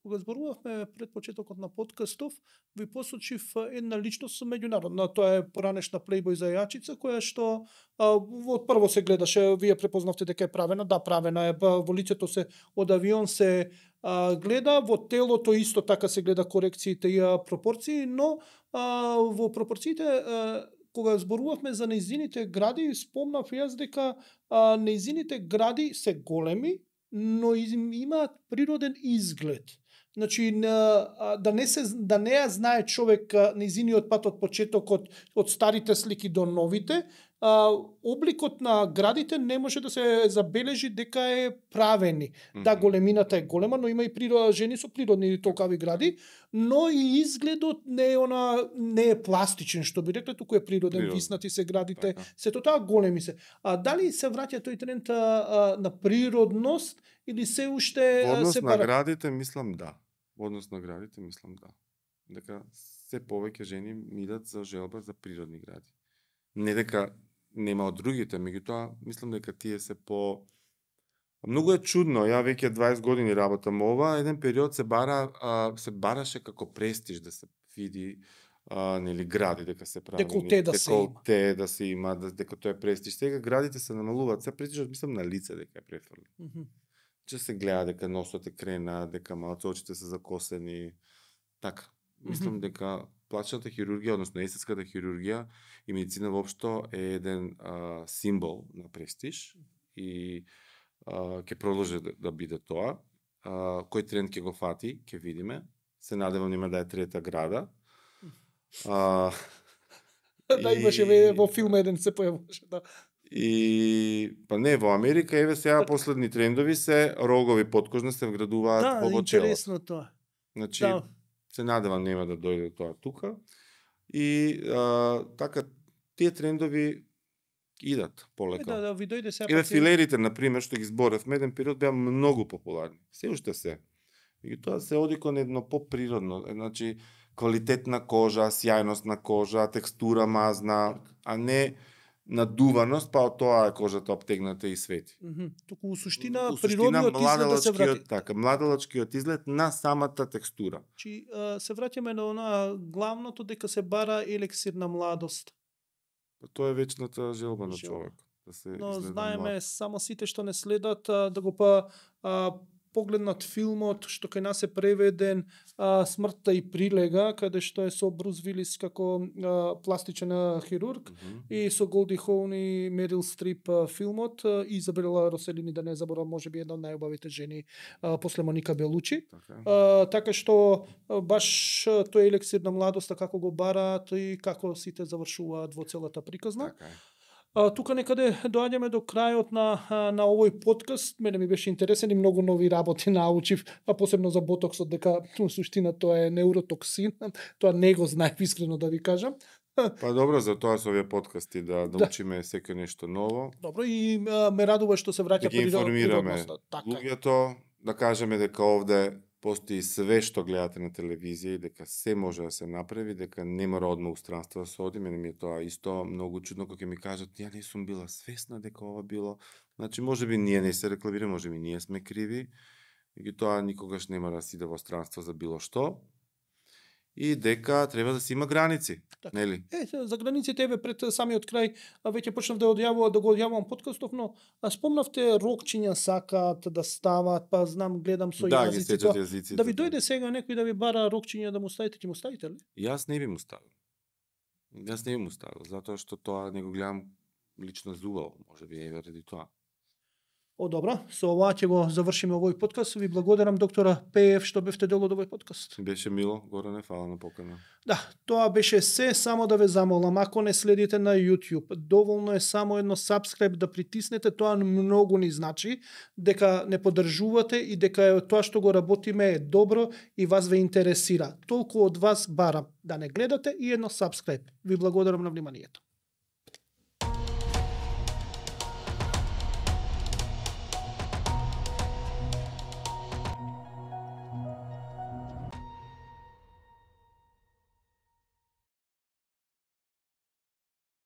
Speaker 1: кога зборувавме пред почетокот на подкастов, ви посочив една личност меѓународна, тоа е поранешна плейбој зајачица, која што а, од прво се гледаше, вие препознавте дека е правена, да, правена е, во лицето се од авион се а, гледа, во телото исто така се гледа корекциите и пропорции, но а, во пропорциите а, кога зборувавме за нејзините гради, спомнав јас дека а, нејзините гради се големи, но имаат природен изглед. Значи, да не се да не ја знае човек нејзиниот пат од почетокот, од старите слики до новите, а, обликот на градите не може да се забележи дека е правени. Mm-hmm. Да, големината е голема, но има и природ, жени со природни толкави гради, но и изгледот не е она не е пластичен, што би рекле, туку е природен, Природ. Виснати се градите, така. Сето тоа големи се. А дали се враќа тој тренд а, на природност или се уште
Speaker 2: Во однос
Speaker 1: се
Speaker 2: на
Speaker 1: пара...
Speaker 2: градите мислам да. Во однос на градите мислам да. Дека се повеќе жени мидат за желба за природни гради. Не дека нема од другите, меѓутоа мислам дека тие се по многу е чудно. Ја веќе дваесет години работам ова, еден период се бара а, се бараше како престиж да се види а, нели гради дека се прави.
Speaker 1: Деколте да се има.
Speaker 2: Деколте да се има, да, дека тоа е престиж. Сега градите се намалуваат, се престижот мислам на лице дека е префрлен. Mm -hmm. Че се гледа дека носот е крена, дека малку очите се закосени. Така. Мислам mm -hmm. дека плачната хирургија, односно естетската хирургија и медицина воопшто е еден а, символ на престиж и а, ќе продолжи да, да биде тоа. А, кој тренд ќе го фати, ќе видиме. Се надевам нема да е трета града. А,
Speaker 1: да, и... имаше во филм еден се појавуваше, да.
Speaker 2: И па не, во Америка еве сега последни трендови се рогови подкожна се вградуваат
Speaker 1: да,
Speaker 2: во челото.
Speaker 1: Да, интересно тоа.
Speaker 2: Значи,
Speaker 1: да.
Speaker 2: се надевам нема да дојде тоа тука. И а, така тие трендови идат полека.
Speaker 1: Да, да, ви дојде сега.
Speaker 2: Еве филерите на пример што ги зборевме, еден период беа многу популарни. Се уште се. И тоа се оди кон едно поприродно, значи квалитетна кожа, сјајност на кожа, текстура мазна, а не надуваност, па од тоа е кожата обтегната и свети.
Speaker 1: Mm -hmm. Туку у суштина, у суштина природниот изглед да се врати.
Speaker 2: Така, младалачкиот изглед на самата текстура.
Speaker 1: Чи се враќаме на она главното дека се бара елексир на младост.
Speaker 2: Па тоа е вечната желба на човек. да се
Speaker 1: Но
Speaker 2: изгледа
Speaker 1: знаеме
Speaker 2: млад.
Speaker 1: само сите што не следат а, да го па а, погледнат филмот што кај нас е преведен а, Смртта и прилега, каде што е со Брус Вилис како а, пластичен а, хирург
Speaker 2: Мгм.
Speaker 1: и со Голди Хоун и Мерил Стрип а, филмот а, и Изабела Роселини, да не заборам, можеби една од најубавите жени а, после Моника Белучи.
Speaker 2: Така.
Speaker 1: А, така што а, баш а, тој елексир на младоста како го бараат и како сите завршуваат во целата приказна.
Speaker 2: Така е.
Speaker 1: А, тука некаде доаѓаме до крајот на, а, на овој подкаст. Мене ми беше интересен и многу нови работи научив, а посебно за ботоксот, дека во суштина тоа е неуротоксин. Тоа не го знаев, искрено да ви кажам.
Speaker 2: Па добро, за тоа со овие подкасти да
Speaker 1: Да.
Speaker 2: научиме секој нешто ново,
Speaker 1: Добро, и а, ме радува што се
Speaker 2: да
Speaker 1: враќа
Speaker 2: ги информираме
Speaker 1: природноста. Така е.
Speaker 2: луѓето, да кажеме дека овде постои све што гледате на телевизија и дека се може да се направи, дека не мора одма у странство да се оди. Мене ми е тоа исто многу чудно кога ќе ми кажат ја не сум била свесна дека ова било. Значи можеби ние не се рекламираме, можеби ние сме криви, и тоа никогаш не мора да се иде во странство за било што. И дека треба да се има граници,
Speaker 1: Така.
Speaker 2: нели?
Speaker 1: Е, за границите, еве пред самиот крај, а, веќе почнав да одјавувам, да го одјавувам подкастов, но а, спомнавте рокчиња сакаат да стават, па знам, гледам со
Speaker 2: Да, ги
Speaker 1: јазици.
Speaker 2: сечат
Speaker 1: тоа.
Speaker 2: јазиците.
Speaker 1: Да ви дојде сега некој да ви бара рокчиња да му ставите, ќе му ставите ли?
Speaker 2: Јас не би му ставил. Јас не би му ставил, затоа што тоа не го гледам лично зувал, можеби е ради тоа.
Speaker 1: О, добро, со ова ќе го завршиме овој подкаст. Ви благодарам, доктора Пеев, што бевте дел од овој подкаст.
Speaker 2: Беше мило, Горане, фала на покана.
Speaker 1: Да, тоа беше се, само да ве замолам, ако не следите на YouTube, доволно е само едно subscribe да притиснете, тоа многу ни значи, дека не поддржувате и дека тоа што го работиме е добро и вас ве интересира. Толку од вас барам да не гледате и едно subscribe. Ви благодарам на вниманието.